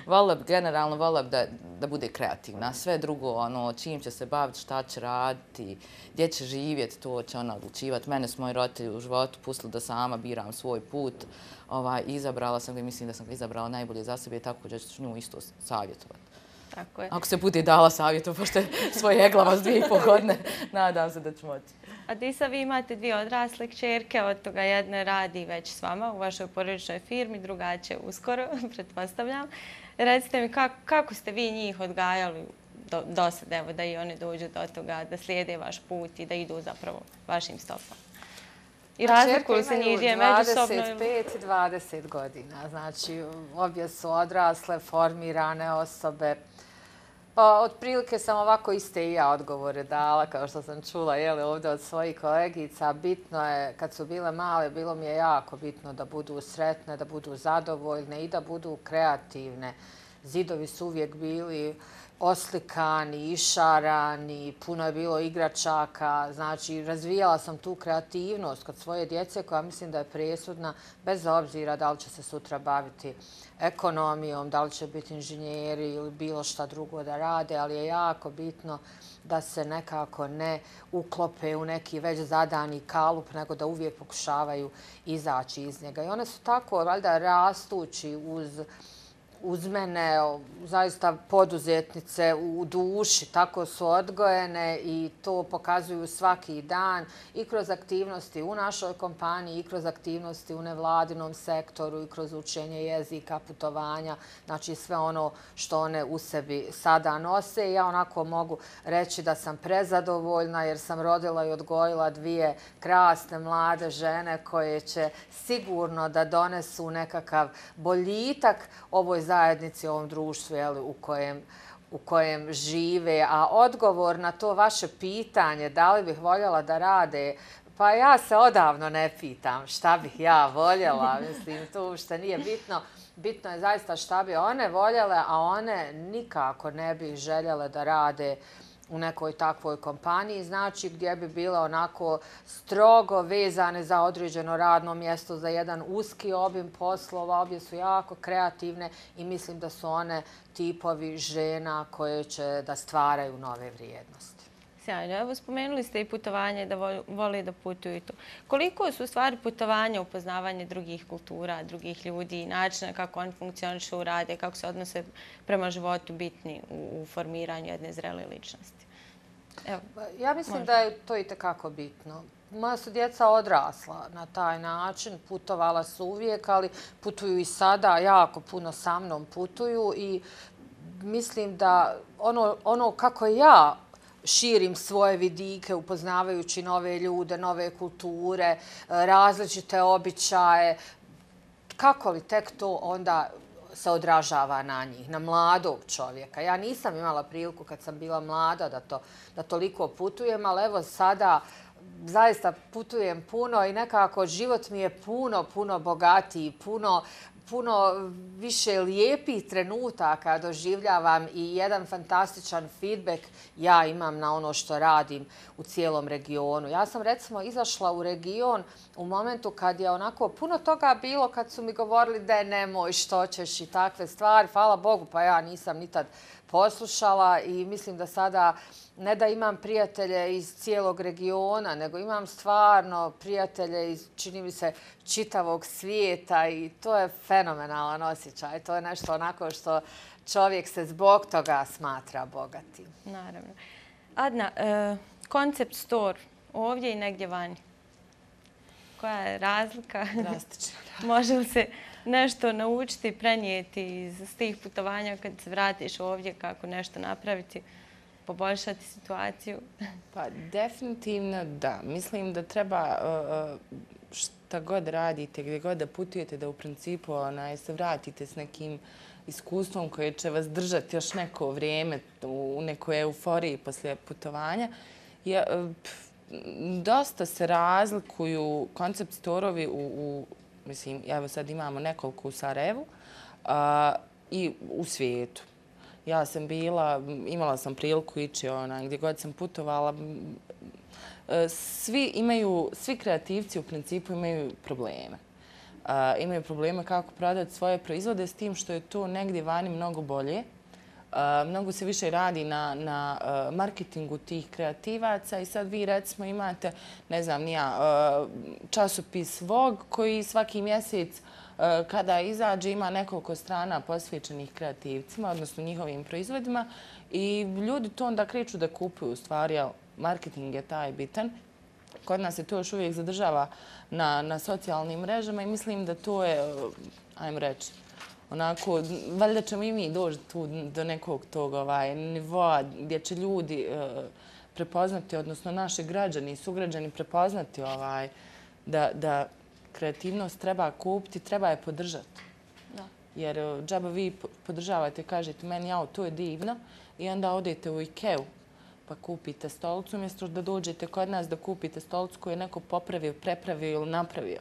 Vola bi, generalno vola bi da, da bude kreativna. Sve drugo, ono, čim će se baviti, šta će raditi, gdje će živjeti, to će ona odlučivati. Mene su moji roditelji u životu pustili da sama biram svoj put. Ovaj, izabrala sam ga i mislim da sam ga izabrala najbolje za sebe, tako da ću nju isto savjetovati. Tako je. Ako se bude dala savjetu, pošto je svoje eglava s dvije i pol godine, nadam se da ću moći. A Disa, vi imate dvije odrasle kćerke, od toga jedna radi već s vama u vašoj porodičnoj firmi, druga će uskoro, pretpostavljam. Recite mi kako, kako ste vi njih odgajali do, do sad, evo, da i oni dođu do toga, da slijede vaš put i da idu zapravo vašim stopama? I razlikuju se njih dvije međusobno? dvadeset pet i dvadeset godina. Znači, obje su odrasle, formirane osobe. Pa, otprilike sam ovako iste i ja odgovore dala, kao što sam čula jeli, ovdje od svojih kolegica. Bitno je, kad su bile male, bilo mi je jako bitno da budu sretne, da budu zadovoljne i da budu kreativne. Zidovi su uvijek bili oslikani, išarani, puno je bilo igračaka. Znači, razvijala sam tu kreativnost kod svoje djece koja mislim da je presudna, bez obzira da li će se sutra baviti ekonomijom, da li će biti inženjeri ili bilo šta drugo da rade, ali je jako bitno da se nekako ne uklope u neki već zadani kalup, nego da uvijek pokušavaju izaći iz njega. I one su tako, valjda, rastući uz uz mene, zaista poduzetnice u duši, tako su odgojene i to pokazuju svaki dan i kroz aktivnosti u našoj kompaniji i kroz aktivnosti u nevladinom sektoru i kroz učenje jezika, putovanja, znači sve ono što one u sebi sada nose. Ja onako mogu reći da sam prezadovoljna jer sam rodila i odgojila dvije krasne mlade žene koje će sigurno da donesu nekakav boljitak ovoj zajednici, ovom društvu jeli, u kojem u kojem žive. A odgovor na to vaše pitanje, da li bih voljela da rade, pa ja se odavno ne pitam šta bih ja voljela. Mislim, to uopšte nije bitno. Bitno je zaista šta bi one voljele, a one nikako ne bi željele da rade u nekoj takvoj kompaniji, znači gdje bi bile onako strogo vezane za određeno radno mjesto, za jedan uski obim poslova. Obje su jako kreativne i mislim da su one tipovi žena koje će da stvaraju nove vrijednosti. Sjajno. Evo, spomenuli ste i putovanje, da voli da putuju i to. Koliko su u stvari putovanja, upoznavanje drugih kultura, drugih ljudi, načina kako oni funkcionišu, rade, kako se odnose prema životu bitni u formiranju jedne zrele ličnosti? Evo, ja mislim možda da je to i tekako bitno. Moja su djeca odrasla na taj način, putovala su uvijek, ali putuju i sada, jako puno sa mnom putuju i mislim da ono, ono kako ja širim svoje vidike upoznavajući nove ljude, nove kulture, različite običaje. Kako li tek to onda se odražava na njih, na mladog čovjeka? Ja nisam imala priliku kad sam bila mlada da, to, da toliko putujem, ali evo sada zaista putujem puno i nekako život mi je puno, puno bogatiji, puno puno više lijepih trenutaka doživljavam i jedan fantastičan feedback ja imam na ono što radim u cijelom regionu. Ja sam recimo izašla u region u momentu kad je onako puno toga bilo, kad su mi govorili da je nemoj, što ćeš i takve stvari. Hvala Bogu, pa ja nisam ni tad poslušala i mislim da sada ne da imam prijatelje iz cijelog regiona, nego imam stvarno prijatelje iz, čini mi se, čitavog svijeta i to je fenomenalan osjećaj. To je nešto onako što čovjek se zbog toga smatra bogatim. Naravno. Adna, e, koncept store ovdje i negdje vani. Koja je razlika? Drastična. Može li se nešto naučiti, prenijeti iz tih putovanja kad se vratiš ovdje, kako nešto napraviti, poboljšati situaciju? Pa definitivno da. Mislim da treba šta god radite, gdje god da putujete, da u principu onaj, se vratite s nekim iskustvom koje će vas držati još neko vrijeme u nekoj euforiji poslije putovanja. Je, dosta se razlikuju koncept storovi u, u mislim, evo sad imamo nekoliko u Sarajevu a, i u svijetu. Ja sam bila, imala sam priliku ići ona, gdje god sam putovala. Svi imaju, svi kreativci u principu imaju probleme. Uh, imaju probleme kako prodati svoje proizvode s tim što je to negdje vani mnogo bolje. Uh, mnogo se više radi na, na uh, marketingu tih kreativaca i sad vi recimo imate, ne znam, nija, uh, časopis Vogue koji svaki mjesec uh, kada izađe ima nekoliko strana posvećenih kreativcima, odnosno njihovim proizvodima i ljudi to onda kreću da kupuju u stvari, jel, marketing je taj bitan. Kod nas se to još uvijek zadržava na, na socijalnim mrežama i mislim da to je, ajmo reći, onako, valjda ćemo i mi doći tu do nekog tog ovaj, nivoa gdje će ljudi uh, prepoznati, odnosno naši građani i sugrađani prepoznati ovaj, da, da kreativnost treba kupiti, treba je podržati. Da. Jer uh, džaba vi podržavate, kažete meni, jao, to je divno i onda odete u Ikeu pa kupite stolicu, umjesto da dođete kod nas da kupite stolicu koju je neko popravio, prepravio ili napravio.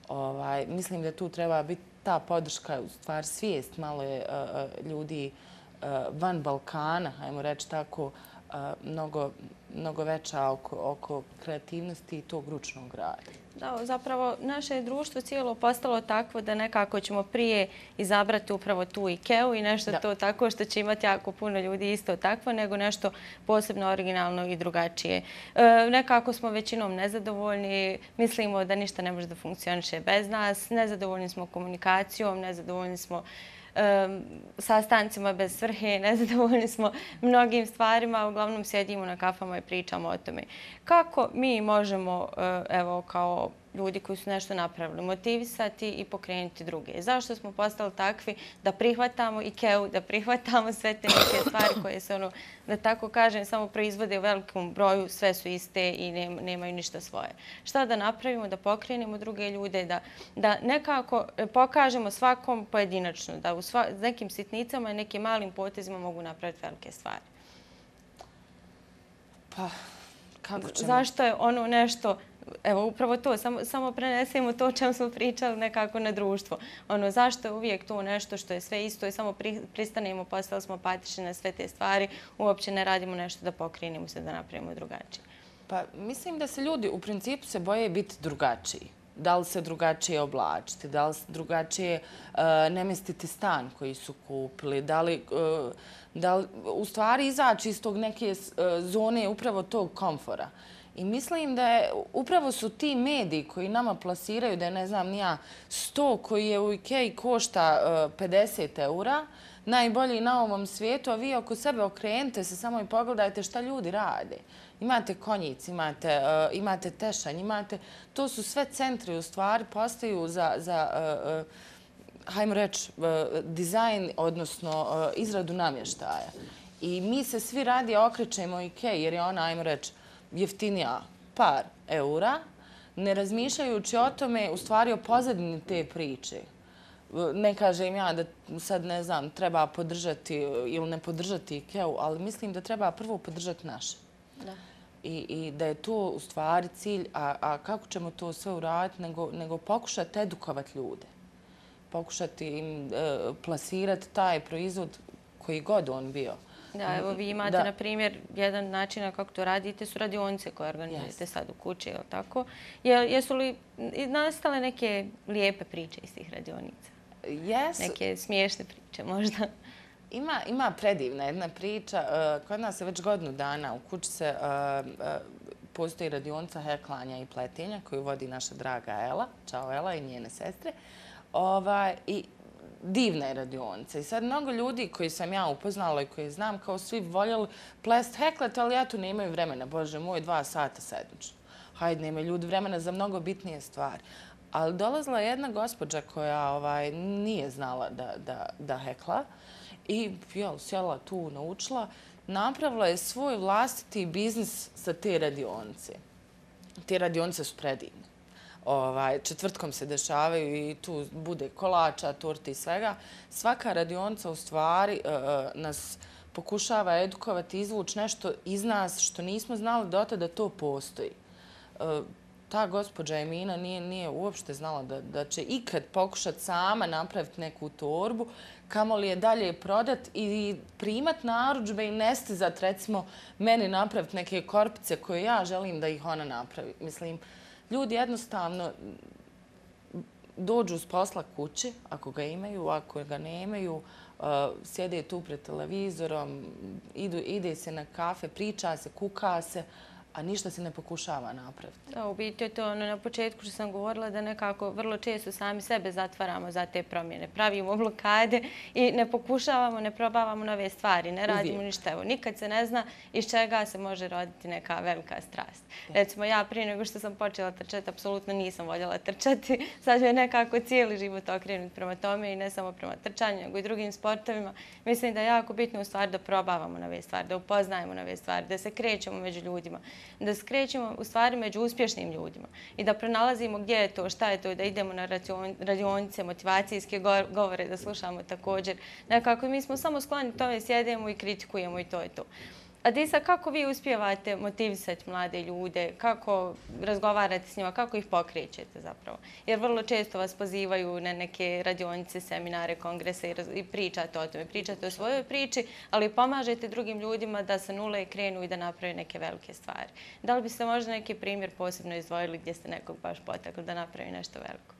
Ovaj, mislim da tu treba biti ta podrška, u stvari svijest malo je uh, ljudi uh, van Balkana, ajmo reći tako, uh, mnogo, mnogo veća oko, oko kreativnosti i tog ručnog rada. Da, zapravo naše društvo cijelo postalo takvo da nekako ćemo prije izabrati upravo tu Ikeu i nešto da. To tako što će imati jako puno ljudi isto takvo, nego nešto posebno originalno i drugačije. E, nekako smo većinom nezadovoljni, mislimo da ništa ne može da funkcioniše bez nas, nezadovoljni smo komunikacijom, nezadovoljni smo Um, sastancima bez svrhe, nezadovoljni smo mnogim stvarima, uglavnom sjedimo na kafama i pričamo o tome. Kako mi možemo, uh, evo, kao ljudi koji su nešto napravili, motivisati i pokrenuti druge? Zašto smo postali takvi da prihvatamo Ikeu, da prihvatamo sve te neke stvari koje se, ono, da tako kažem, samo proizvode u velikom broju, sve su iste i nemaju ništa svoje. Šta da napravimo, da pokrenemo druge ljude, da, da nekako pokažemo svakom pojedinačno, da u sva, nekim sitnicama i nekim malim potezima mogu napraviti velike stvari? Pa, kako ćemo? Zašto je ono nešto... Evo, upravo to, samo, samo prenesemo to o čem smo pričali nekako na društvo. Ono, zašto je uvijek to nešto što je sve isto i samo pri, pristanemo, postali smo apatični na sve te stvari, uopće ne radimo nešto da pokrenemo se, da napravimo drugačije. Pa, mislim da se ljudi u principu se boje biti drugačiji. Da li se drugačije oblačiti, da li se drugačije uh, ne mestiti stan koji su kupili, da li, uh, da li u stvari izaći iz tog neke uh, zone upravo tog komfora. I mislim da je, upravo su ti mediji koji nama plasiraju da je, ne znam, nija sto koji je u Ikei košta uh, pedeset eura, najbolji na ovom svijetu, a vi oko sebe okrenite se samo i pogledajte šta ljudi rade. Imate konjic, imate, uh, imate tešanj, imate... To su sve centri u stvari, postaju za, za uh, uh, hajmo reći, uh, dizajn, odnosno uh, izradu namještaja. I mi se svi radije okrećemo Ikei jer je ona, hajmo reći, jeftinija par eura, ne razmišljajući o tome, u stvari o pozadini te priče. Ne kažem ja da sad, ne znam, treba podržati ili ne podržati Ikeu, ali mislim da treba prvo podržati naše. Da. I, i da je to u stvari cilj, a, a kako ćemo to sve uraditi, nego, nego pokušati edukovati ljude. Pokušati im e, plasirati taj proizvod koji god on bio. Da, evo vi imate, da. Na primjer, jedan način kako to radite su radionice koje organizujete yes. sad u kući, je li tako? Jesu li nastale neke lijepe priče iz tih radionica? Yes. Neke smiješne priče možda? Ima, ima predivna jedna priča. Kod nas je već godinu dana u kući se uh, uh, postoji radionica heklanja i pletenja koju vodi naša draga Ela. Ćao Ela i njene sestre. Ovaj, i divna je radionica. I sad mnogo ljudi koji sam ja upoznala i koji znam kao svi voljeli plest heklet, ali ja tu nemaju vremena. Bože moj, dva sata sedmično. Hajde, nemaju ljudi vremena za mnogo bitnije stvari. Ali dolazila je jedna gospođa koja ovaj, nije znala da, da, da hekla i jel, sjela tu, naučila. Napravila je svoj vlastiti biznis sa te radionice. Te radionice su predivne. četvrtkom se dešavaju i tu bude kolača, torte i svega. Svaka radionica u stvari nas pokušava edukovati, izvući nešto iz nas što nismo znali do tada da to postoji. Ta gospođa Emina nije uopšte znala da će ikad pokušati sama napraviti neku torbu, kamoli je dalje prodat i primat narudžbe i ne stizat, recimo, meni napraviti neke korpice koje ja želim da ih ona napravi. Mislim, ljudi jednostavno dođu s posla kući, ako ga imaju, ako ga nemaju, sjede tu pred televizorom, ide se na kafe, priča se, kuka se, a ništa se ne pokušava napraviti. Da, u biti je to ono na početku što sam govorila da nekako vrlo često sami sebe zatvaramo za te promjene. Pravimo blokade i ne pokušavamo, ne probavamo nove stvari, ne radimo ništa. Evo, nikad se ne zna iz čega se može roditi neka velika strast. Recimo, ja prije nego što sam počela trčati, apsolutno nisam voljela trčati. Sad je nekako cijeli život okrenut prema tome i ne samo prema trčanju, nego i drugim sportovima. Mislim da je jako bitno u stvari da probavamo nove stvari, da upoznajemo nove stvari, da se krećemo među ljudima, da se krećemo u stvari među uspješnim ljudima i da pronalazimo gdje je to, šta je to, da idemo na radionice, motivacijske govore, da slušamo također. Nekako mi smo samo skloni tome, sjedemo i kritikujemo i to je to. Adisa, kako vi uspijevate motivisati mlade ljude, kako razgovarate s njima, kako ih pokrećete zapravo? Jer vrlo često vas pozivaju na neke radionice, seminare, kongrese i pričate o tome. Pričate o svojoj priči, ali pomažete drugim ljudima da sa nule krenu i da naprave neke velike stvari. Da li biste možda neki primjer posebno izdvojili gdje ste nekog baš potakli da napravi nešto veliko?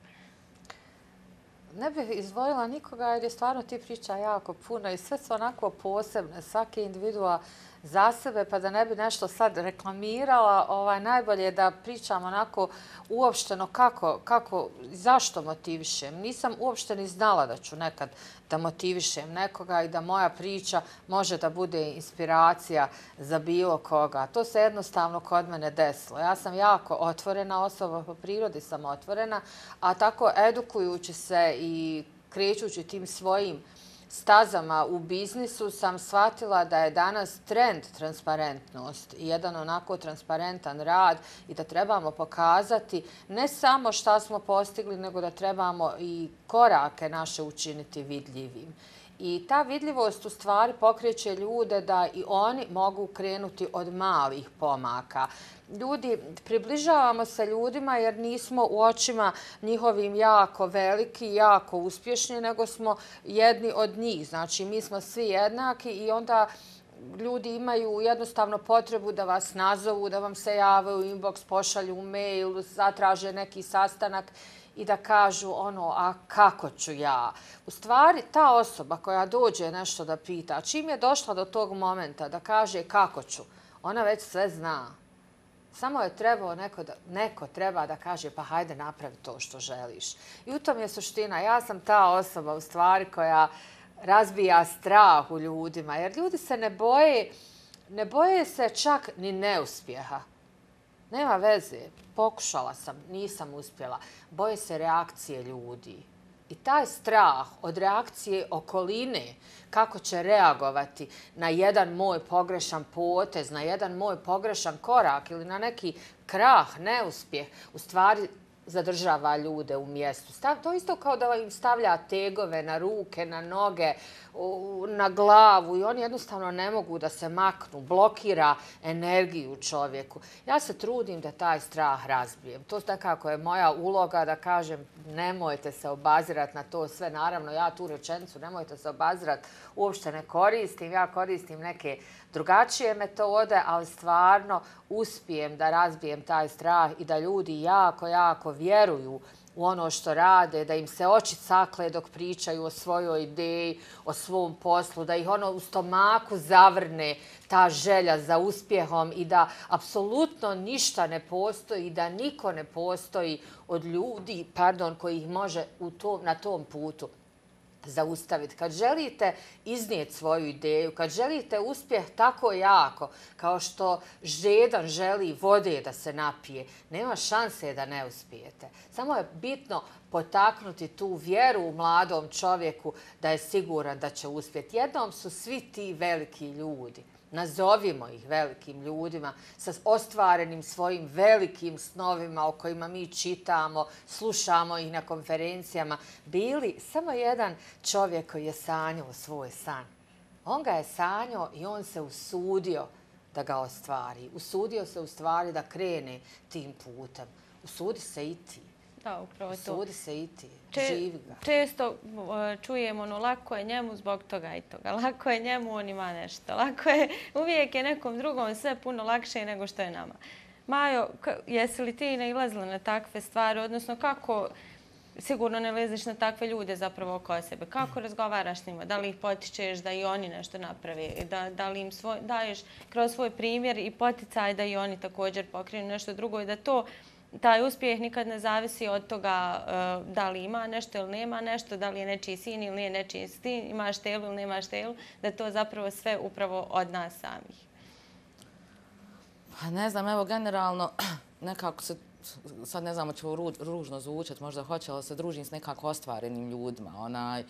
Ne bih izdvojila nikoga jer je stvarno ti priča jako puno i sve su onako posebne, svaki individua za sebe, pa da ne bi nešto sad reklamirala, ovaj, najbolje je da pričam onako uopšteno kako, kako, zašto motivišem. Nisam uopšte ni znala da ću nekad da motivišem nekoga i da moja priča može da bude inspiracija za bilo koga. To se jednostavno kod mene desilo. Ja sam jako otvorena osoba, po prirodi sam otvorena, a tako edukujući se i krećući tim svojim stazama u biznisu sam shvatila da je danas trend transparentnost i jedan onako transparentan rad i da trebamo pokazati ne samo šta smo postigli, nego da trebamo i korake naše učiniti vidljivim. I ta vidljivost u stvari pokreće ljude da i oni mogu krenuti od malih pomaka. Ljudi, približavamo se ljudima jer nismo u očima njihovim jako veliki, jako uspješni, nego smo jedni od njih. Znači, mi smo svi jednaki i onda ljudi imaju jednostavno potrebu da vas nazovu, da vam se jave u inbox, pošalju mail, zatraže neki sastanak i da kažu ono, a kako ću ja? U stvari, ta osoba koja dođe nešto da pita, čim je došla do tog momenta da kaže kako ću, ona već sve zna. Samo je trebao neko, da, neko treba da kaže pa hajde napravi to što želiš. I u tom je suština. Ja sam ta osoba u stvari koja razbija strah u ljudima. Jer ljudi se ne boje, ne boje se čak ni neuspjeha. Nema veze. Pokušala sam, nisam uspjela. Boje se reakcije ljudi. I taj strah od reakcije okoline, kako će reagovati na jedan moj pogrešan potez, na jedan moj pogrešan korak ili na neki krah, neuspjeh, u stvari zadržava ljude u mjestu. To isto kao da im stavlja tegove na ruke, na noge, na glavu i oni jednostavno ne mogu da se maknu, blokira energiju čovjeku. Ja se trudim da taj strah razbijem. To nekako je moja uloga da kažem nemojte se obazirati na to sve. Naravno, ja tu rečenicu nemojte se obazirati uopšte ne koristim. Ja koristim neke drugačije metode, ali stvarno uspijem da razbijem taj strah i da ljudi jako, jako vjeruju u ono što rade, da im se oči cakle dok pričaju o svojoj ideji, o svom poslu, da ih ono u stomaku zavrne ta želja za uspjehom i da apsolutno ništa ne postoji, da niko ne postoji od ljudi, pardon, koji ih može u tom, na tom putu zaustaviti. Kad želite iznijeti svoju ideju, kad želite uspjeh tako jako kao što žedan želi vode da se napije, nema šanse da ne uspijete. Samo je bitno potaknuti tu vjeru u mladom čovjeku da je siguran da će uspjeti. Jednom su svi ti veliki ljudi nazovimo ih velikim ljudima, sa ostvarenim svojim velikim snovima o kojima mi čitamo, slušamo ih na konferencijama, bili samo jedan čovjek koji je sanjao svoj san. On ga je sanjao i on se usudio da ga ostvari. Usudio se u stvari da krene tim putem. Usudi se i ti. Da, upravo to. Usudi se i ti. Živi ga. Često čujemo ono, lako je njemu zbog toga i toga. Lako je njemu, on ima nešto. Lako je, uvijek je nekom drugom sve puno lakše nego što je nama. Majo, jesi li ti nailazila na takve stvari? Odnosno, kako sigurno ne leziš na takve ljude zapravo oko sebe? Kako razgovaraš s njima? Da li ih potičeš da i oni nešto naprave? Da, da li im svoj, daješ kroz svoj primjer i poticaj da i oni također pokrenu nešto drugo i da to taj uspjeh nikad ne zavisi od toga uh, da li ima nešto ili nema nešto, da li je nečiji sin ili nije nečiji sin, imaš telu ili nemaš telu, da je to zapravo sve upravo od nas samih. Pa ne znam, evo generalno nekako se, sad ne znam, ću ruž, ružno zvučati, možda hoće, ali se družim s nekako ostvarenim ljudima. Onaj,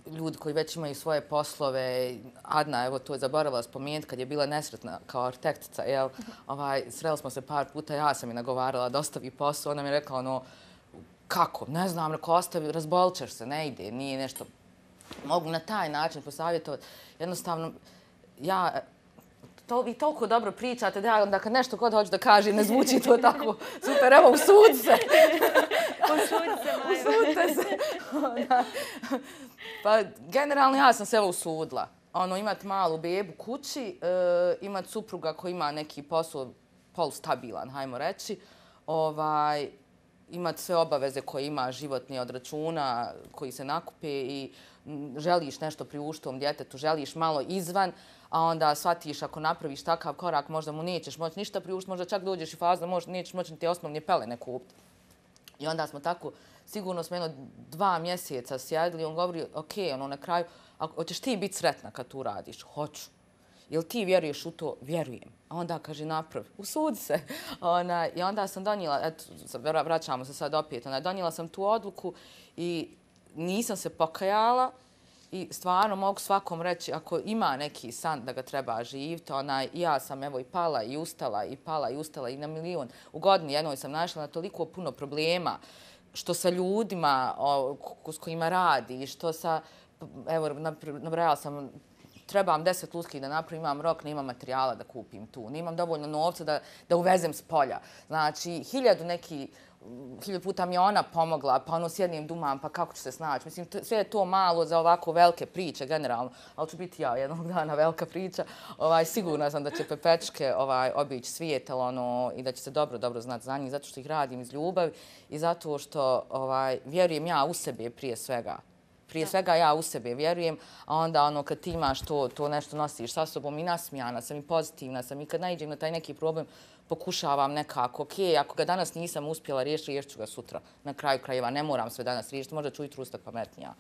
ljudi koji već imaju svoje poslove. Adna, evo to je zaboravila spomenuti, kad je bila nesretna kao arhitektica, jel, ovaj, sreli smo se par puta, ja sam je nagovarala da ostavi posao, ona mi je rekla ono, kako, ne znam, rekao, ostavi, razbolit ćeš se, ne ide, nije nešto. Mogu na taj način posavjetovati. Jednostavno, ja, to, vi toliko dobro pričate da ja onda kad nešto god hoću da kažem, ne zvuči to tako super, evo, usudi se. Usudi se, Majo. Usudite se. Pa, generalno ja sam se evo usudila. Ono, imati malu bebu kući, e, imati supruga koji ima neki posao polustabilan, hajmo reći, ovaj, imati sve obaveze koje ima životni od računa koji se nakupe i m, želiš nešto priuštom djetetu, želiš malo izvan, a onda shvatiš ako napraviš takav korak, možda mu nećeš moći ništa priuštiti, možda čak dođeš i fazu da možda nećeš moći te osnovne pelene kupiti. I onda smo tako, sigurno smo jedno dva mjeseca sjedili, on govori, ok, ono na kraju, hoćeš ti biti sretna kad tu radiš? Hoću. Jel ti vjeruješ u to? Vjerujem. A onda kaže, napravi, usudi se. Ona, I onda sam donijela, eto, vraćamo se sad opet, ona, donijela sam tu odluku i nisam se pokajala i stvarno mogu svakom reći, ako ima neki san da ga treba živjeti, ona, ja sam evo i pala i ustala i pala i ustala i na milion. U godini jednoj sam našla na toliko puno problema, što sa ljudima o, s kojima radi, što sa, evo, nabrajala sam, trebam deset luskih da napravim, imam rok, nemam materijala da kupim tu, nemam dovoljno novca da, da uvezem s polja. Znači, hiljadu neki, hiljadu puta mi je ona pomogla, pa ono sjednim dumam, pa kako ću se snaći. Mislim, sve je to malo za ovako velike priče, generalno, ali ću biti ja jednog dana velika priča. Ovaj, sigurna sam da će Pepečke ovaj, obići svijet, ono, i da će se dobro, dobro znati za njih, zato što ih radim iz ljubavi i zato što ovaj, vjerujem ja u sebe prije svega. Prije svega ja u sebe vjerujem, a onda ono kad ti imaš to, to nešto nosiš sa sobom i nasmijana sam i pozitivna sam i kad naiđem na taj neki problem pokušavam nekako, ok, ako ga danas nisam uspjela riješiti, riješit ću ga sutra. Na kraju krajeva ne moram sve danas riješiti, možda ću ujutro ustati pametnija.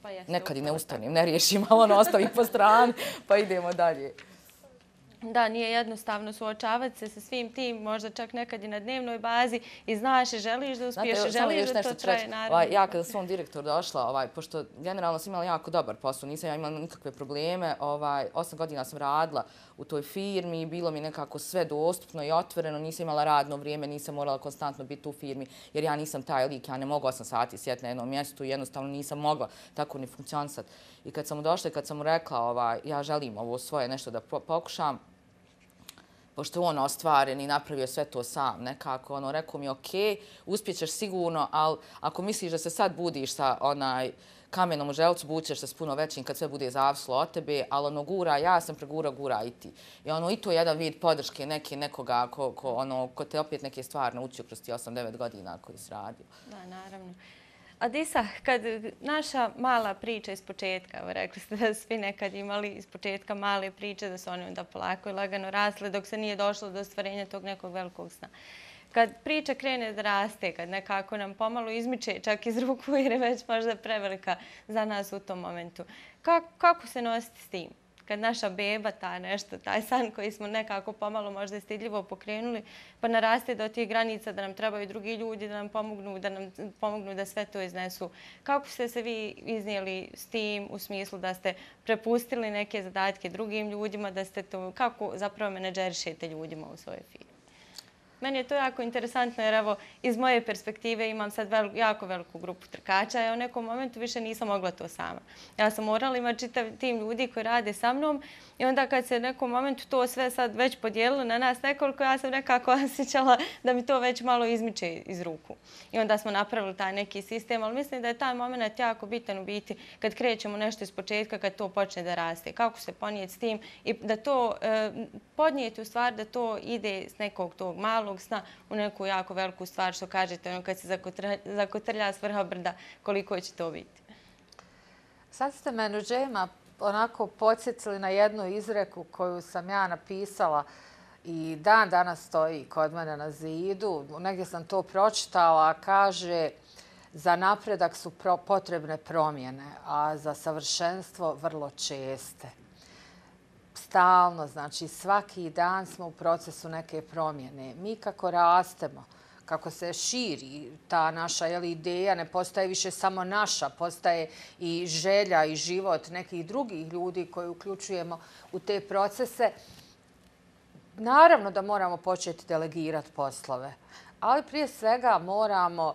Pa nekad i ne ustanem, ne riješim, ali ono ostavim po strani pa idemo dalje. Da, nije jednostavno suočavati se sa svim tim, možda čak nekad i na dnevnoj bazi i znaš i želiš da uspiješ, Znate, želiš da to traje naravno. Ja kada sam direktor došla, ovaj, pošto generalno sam imala jako dobar posao, nisam ja imala nikakve probleme, ovaj, osam godina sam radila u toj firmi, bilo mi nekako sve dostupno i otvoreno, nisam imala radno vrijeme, nisam morala konstantno biti u firmi, jer ja nisam taj lik, ja ne mogu osam sati sjeti na jednom mjestu i jednostavno nisam mogla tako ni funkcionisati. I kad sam mu došla i kad sam mu rekla, ovaj, ja želim ovo svoje nešto da pokušam, pošto je on ostvaren i napravio sve to sam nekako, ono, rekao mi, ok, uspjećeš sigurno, ali ako misliš da se sad budiš sa onaj kamenom u želucu, bućeš se s puno većim kad sve bude zavislo od tebe, ali ono, gura, ja sam pregura, gura i ti. I ono, i to je jedan vid podrške neke, nekoga ko, ko, ono, ko te opet neke stvari naučio kroz ti osam devet godina koji si radio. Da, naravno. Adisa, kad naša mala priča iz početka, evo rekli ste da svi nekad imali iz početka male priče, da su oni onda polako i lagano rasle dok se nije došlo do ostvarenja tog nekog velikog sna. Kad priča krene da raste, kad nekako nam pomalo izmiče čak iz ruku jer je već možda prevelika za nas u tom momentu, kako, kako se nositi s tim? kad naša beba, ta nešto, taj san koji smo nekako pomalo možda i stidljivo pokrenuli, pa naraste do tih granica da nam trebaju drugi ljudi da nam pomognu, da nam pomognu da sve to iznesu. Kako ste se vi iznijeli s tim u smislu da ste prepustili neke zadatke drugim ljudima, da ste to, kako zapravo menadžerišete ljudima u svojoj firmi? Meni je to jako interesantno jer evo iz moje perspektive imam sad vel, jako veliku grupu trkača i u nekom momentu više nisam mogla to sama. Ja sam morala imati čitav tim ljudi koji rade sa mnom i onda kad se u nekom momentu to sve sad već podijelilo na nas nekoliko, ja sam nekako osjećala da mi to već malo izmiče iz ruku. I onda smo napravili taj neki sistem, ali mislim da je taj moment jako bitan u biti kad krećemo nešto iz početka, kad to počne da raste. Kako se ponijeti s tim i da to eh, podnijeti u stvari da to ide s nekog tog malog sna u neku jako veliku stvar, što kažete, ono kad se zakotrlja, zakotrlja s vrha brda, koliko će to biti. Sad ste me, Nuđema, onako podsjetili na jednu izreku koju sam ja napisala i dan danas stoji kod mene na zidu. Negdje sam to pročitala, kaže za napredak su pro, potrebne promjene, a za savršenstvo vrlo česte. Stalno, znači svaki dan smo u procesu neke promjene. Mi kako rastemo, kako se širi ta naša jeli, ideja, ne postaje više samo naša, postaje i želja i život nekih drugih ljudi koji uključujemo u te procese. Naravno da moramo početi delegirati poslove, ali prije svega moramo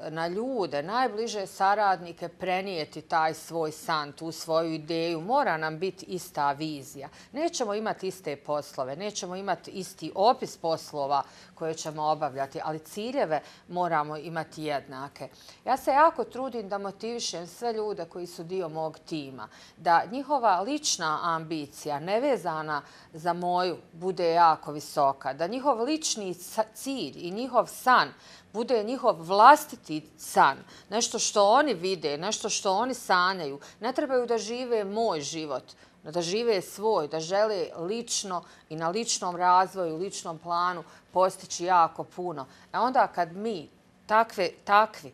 na ljude, najbliže saradnike prenijeti taj svoj san, tu svoju ideju. Mora nam biti ista vizija. Nećemo imati iste poslove, nećemo imati isti opis poslova koje ćemo obavljati, ali ciljeve moramo imati jednake. Ja se jako trudim da motivišem sve ljude koji su dio mog tima, da njihova lična ambicija, nevezana za moju, bude jako visoka, da njihov lični cilj i njihov san bude njihov vlastiti san, nešto što oni vide, nešto što oni sanjaju. Ne trebaju da žive moj život, da žive svoj, da žele lično i na ličnom razvoju, ličnom planu postići jako puno. A onda kad mi takve, takvi,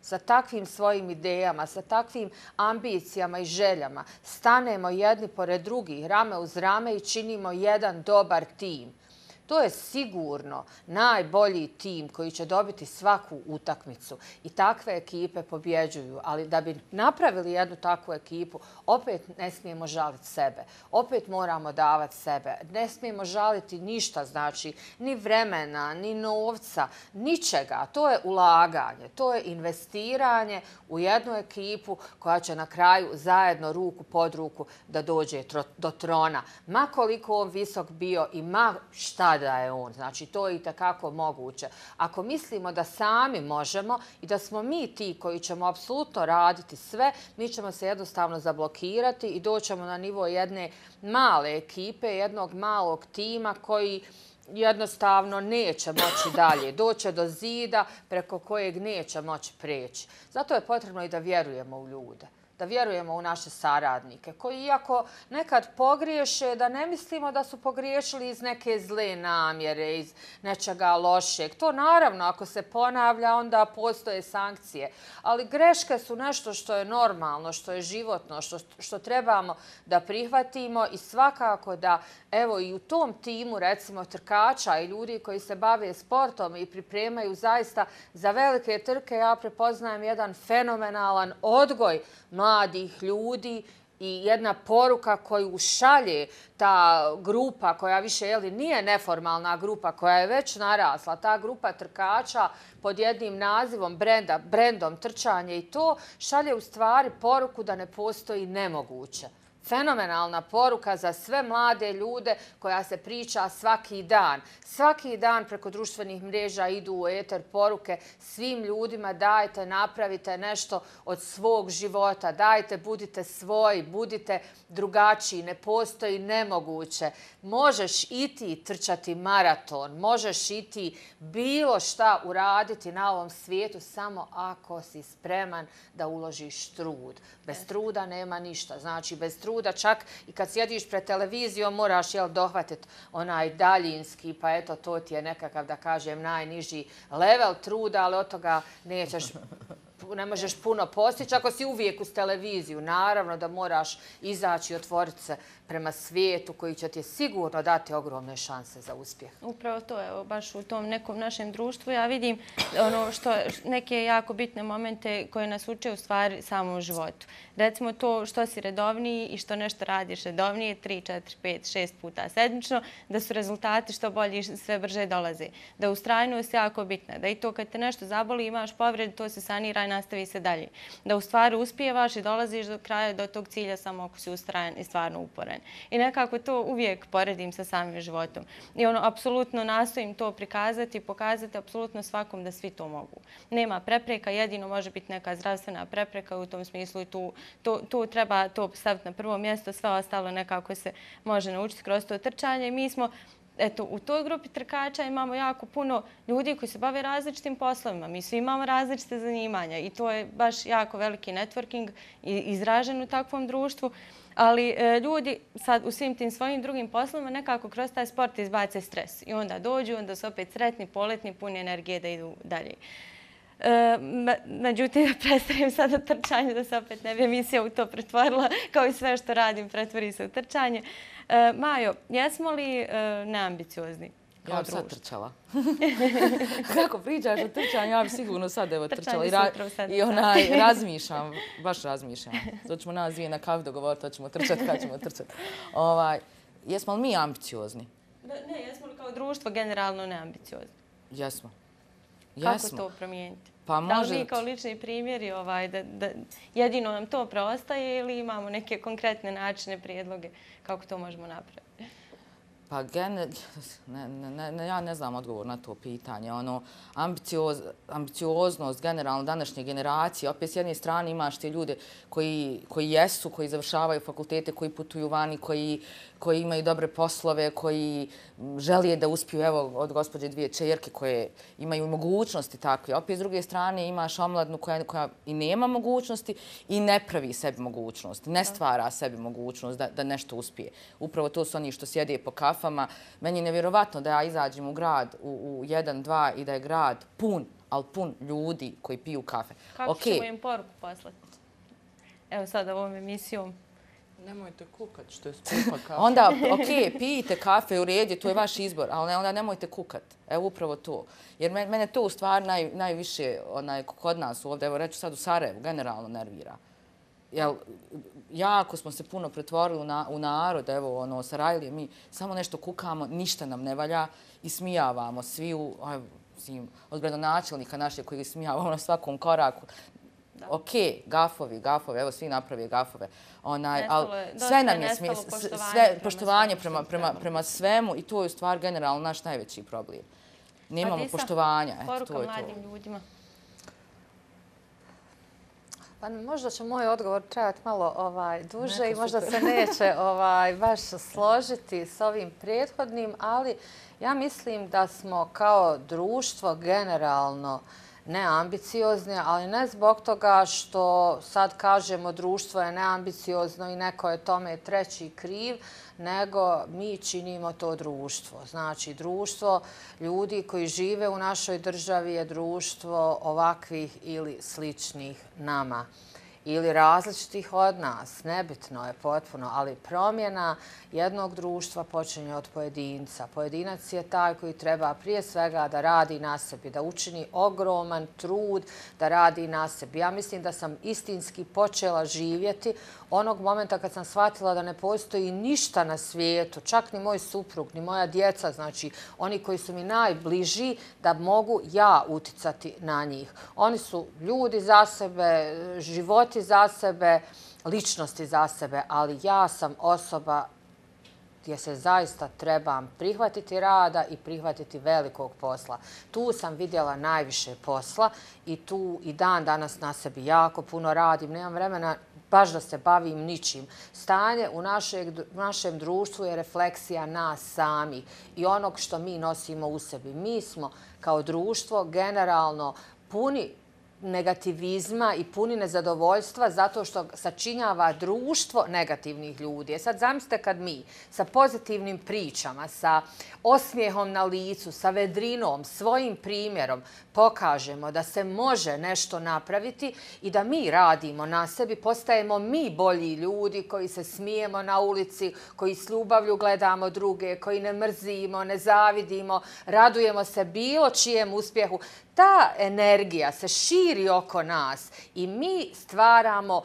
sa takvim svojim idejama, sa takvim ambicijama i željama stanemo jedni pored drugih, rame uz rame i činimo jedan dobar tim, to je sigurno najbolji tim koji će dobiti svaku utakmicu i takve ekipe pobjeđuju. Ali da bi napravili jednu takvu ekipu, opet ne smijemo žaliti sebe. Opet moramo davati sebe. Ne smijemo žaliti ništa, znači ni vremena, ni novca, ničega. To je ulaganje, to je investiranje u jednu ekipu koja će na kraju zajedno ruku pod ruku da dođe do trona. Ma koliko on visok bio i ma šta da je on. Znači, to je i takako moguće. Ako mislimo da sami možemo i da smo mi ti koji ćemo apsolutno raditi sve, mi ćemo se jednostavno zablokirati i doćemo na nivo jedne male ekipe, jednog malog tima koji jednostavno neće moći dalje. Doće do zida preko kojeg neće moći preći. Zato je potrebno i da vjerujemo u ljude. Da vjerujemo u naše saradnike, koji iako nekad pogriješe, da ne mislimo da su pogriješili iz neke zle namjere, iz nečega lošeg. To naravno, ako se ponavlja, onda postoje sankcije. Ali greške su nešto što je normalno, što je životno, što, što trebamo da prihvatimo i svakako da, evo i u tom timu, recimo trkača i ljudi koji se bave sportom i pripremaju zaista za velike trke, ja prepoznajem jedan fenomenalan odgoj mladih ljudi i jedna poruka koju šalje ta grupa koja više jeli, nije neformalna grupa, koja je već narasla, ta grupa trkača pod jednim nazivom brenda, brendom trčanje i to šalje u stvari poruku da ne postoji nemoguće. Fenomenalna poruka za sve mlade ljude koja se priča svaki dan. Svaki dan preko društvenih mreža idu u eter poruke svim ljudima: dajte, napravite nešto od svog života, dajte, budite svoji, budite drugačiji, ne postoji nemoguće. Možeš i ti trčati maraton, možeš i ti bilo šta uraditi na ovom svijetu samo ako si spreman da uložiš trud. Bez truda nema ništa. Znači, bez truda čak i kad sjediš pred televizijom moraš jel, dohvatiti onaj daljinski, pa eto, to ti je nekakav, da kažem, najniži level truda, ali od toga nećeš ne možeš puno postići ako si uvijek uz televiziju. Naravno da moraš izaći i otvoriti se prema svijetu koji će ti sigurno dati ogromne šanse za uspjeh. Upravo to, evo, baš u tom nekom našem društvu ja vidim ono što, neke jako bitne momente koje nas uče u stvari samom životu. Recimo to što si redovniji i što nešto radiš redovnije, tri, četiri, pet, šest puta sedmično, da su rezultati što bolji i sve brže dolaze. Da ustrajnost je jako bitna, da i to kad te nešto zaboli, imaš povred, to se sanira i nastavi se dalje. Da u stvari uspijevaš i dolaziš do kraja, do tog cilja samo ako si ustrajan i stvarno uporan. I nekako to uvijek poredim sa samim životom. I ono, apsolutno nastojim to prikazati i pokazati apsolutno svakom da svi to mogu. Nema prepreka, jedino može biti neka zdravstvena prepreka u tom smislu i tu, tu, tu treba to staviti na prvo mjesto, sve ostalo nekako se može naučiti kroz to trčanje. I mi smo Eto, u toj grupi trkača imamo jako puno ljudi koji se bave različitim poslovima. Mi svi imamo različite zanimanja i to je baš jako veliki networking izražen u takvom društvu. Ali e, ljudi sad u svim tim svojim drugim poslovima nekako kroz taj sport izbace stres. I onda dođu, onda su opet sretni, poletni, puni energije da idu dalje. E, međutim, da prestanem sada trčanje, da se opet ne bi emisija u to pretvorila, kao i sve što radim pretvori se u trčanje. E, Majo, jesmo li e, neambiciozni? Ja bi sad trčala. Kako pričaš o trčanju, ja bi sigurno sad evo trčala. I, ra i onaj, razmišljam, baš razmišljam. To ćemo nas dvije na kavi dogovoriti, to ćemo trčati, kad ćemo trčati. Ovaj, jesmo li mi ambiciozni? Ne, jesmo li kao društvo generalno neambiciozni? Jesmo. Kako Jesmo. to promijeniti? Pa može... Da li mi kao lični primjeri ovaj, da, da jedino nam to preostaje ili imamo neke konkretne načine, prijedloge kako to možemo napraviti? Pa gene, ne, ne, ne, ja ne znam odgovor na to pitanje. Ono, ambicioz, ambicioznost generalno današnje generacije. Opet s jedne strane imaš te ljude koji, koji jesu, koji završavaju fakultete, koji putuju vani, koji, koji imaju dobre poslove, koji želije da uspiju, evo, od gospođe dvije čerke koje imaju mogućnosti takve. Opet s druge strane imaš omladnu koja, koja i nema mogućnosti i ne pravi sebi mogućnosti, ne stvara sebi mogućnost da, da nešto uspije. Upravo to su oni što sjede po kafama. Meni je nevjerovatno da ja izađem u grad u, u jedan, dva i da je grad pun, ali pun ljudi koji piju kafe. Kako okay. ćemo im poruku poslati? Evo sad ovom emisijom. Nemojte kukat što je skupa kafe. Onda, ok, pijite kafe u redu, to je vaš izbor, ali onda nemojte kukat. Evo upravo to. Jer mene to u stvari naj, najviše onaj, kod nas ovdje, evo reću sad u Sarajevu, generalno nervira. Jel, jako smo se puno pretvorili u, na, u narod, evo, ono, Sarajlije, mi samo nešto kukamo, ništa nam ne valja i smijavamo svi u, aj, od gradonačelnika naše koji smijavamo na svakom koraku. Da. Ok, gafovi, gafovi, evo svi napravi gafove. Onaj, nestalo, ali sve nam je smije, poštovanje, sve, prema, poštovanje svemu prema, prema, prema svemu i to je u stvar generalno naš najveći problem. Nemamo poštovanja. Poruka mladim ljudima. Pa možda će moj odgovor trajati malo ovaj, duže Neko i možda super. se neće ovaj, baš složiti s ovim prethodnim, ali ja mislim da smo kao društvo generalno neambiciozni, ali ne zbog toga što sad kažemo društvo je neambiciozno i neko je tome treći kriv, nego mi činimo to društvo. Znači, društvo ljudi koji žive u našoj državi je društvo ovakvih ili sličnih nama. Ili različitih od nas, nebitno je potpuno, ali promjena jednog društva počinje od pojedinca. Pojedinac je taj koji treba prije svega da radi na sebi, da učini ogroman trud da radi na sebi. Ja mislim da sam istinski počela živjeti onog momenta kad sam shvatila da ne postoji ništa na svijetu, čak ni moj suprug, ni moja djeca, znači oni koji su mi najbliži, da mogu ja uticati na njih. Oni su ljudi za sebe, životi za sebe, ličnosti za sebe, ali ja sam osoba gdje se zaista trebam prihvatiti rada i prihvatiti velikog posla. Tu sam vidjela najviše posla i tu i dan danas na sebi jako puno radim. Nemam vremena baš da se bavim ničim. Stanje u našeg, našem društvu je refleksija nas sami i onog što mi nosimo u sebi. Mi smo kao društvo generalno puni negativizma i puni nezadovoljstva zato što sačinjava društvo negativnih ljudi. E sad zamislite kad mi sa pozitivnim pričama, sa osmijehom na licu, sa vedrinom, svojim primjerom pokažemo da se može nešto napraviti i da mi radimo na sebi, postajemo mi bolji ljudi koji se smijemo na ulici, koji s ljubavlju gledamo druge, koji ne mrzimo, ne zavidimo, radujemo se bilo čijem uspjehu. Ta energija se širi oko nas i mi stvaramo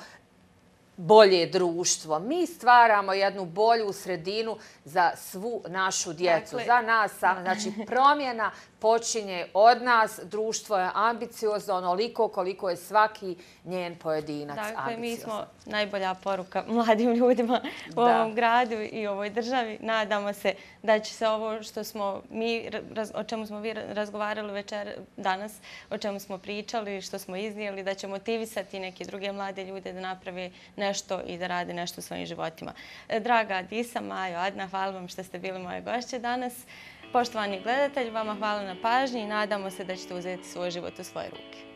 bolje društvo. Mi stvaramo jednu bolju sredinu za svu našu djecu, za nas sami. Znači, promjena počinje od nas, društvo je ambiciozno onoliko koliko je svaki njen pojedinac ambiciozan. Dakle, mi smo najbolja poruka mladim ljudima u ovom gradu i ovoj državi. Nadamo se da će se ovo što smo mi, o čemu smo vi razgovarali večer danas, o čemu smo pričali, što smo iznijeli, da će motivisati neke druge mlade ljude da naprave nešto i da rade nešto u svojim životima. Draga Adisa, Majo, Adna, hvala vam što ste bili moje gošće danas. Poštovani gledatelji, vama hvala na pažnji i nadamo se da ćete uzeti svoj život u svoje ruke.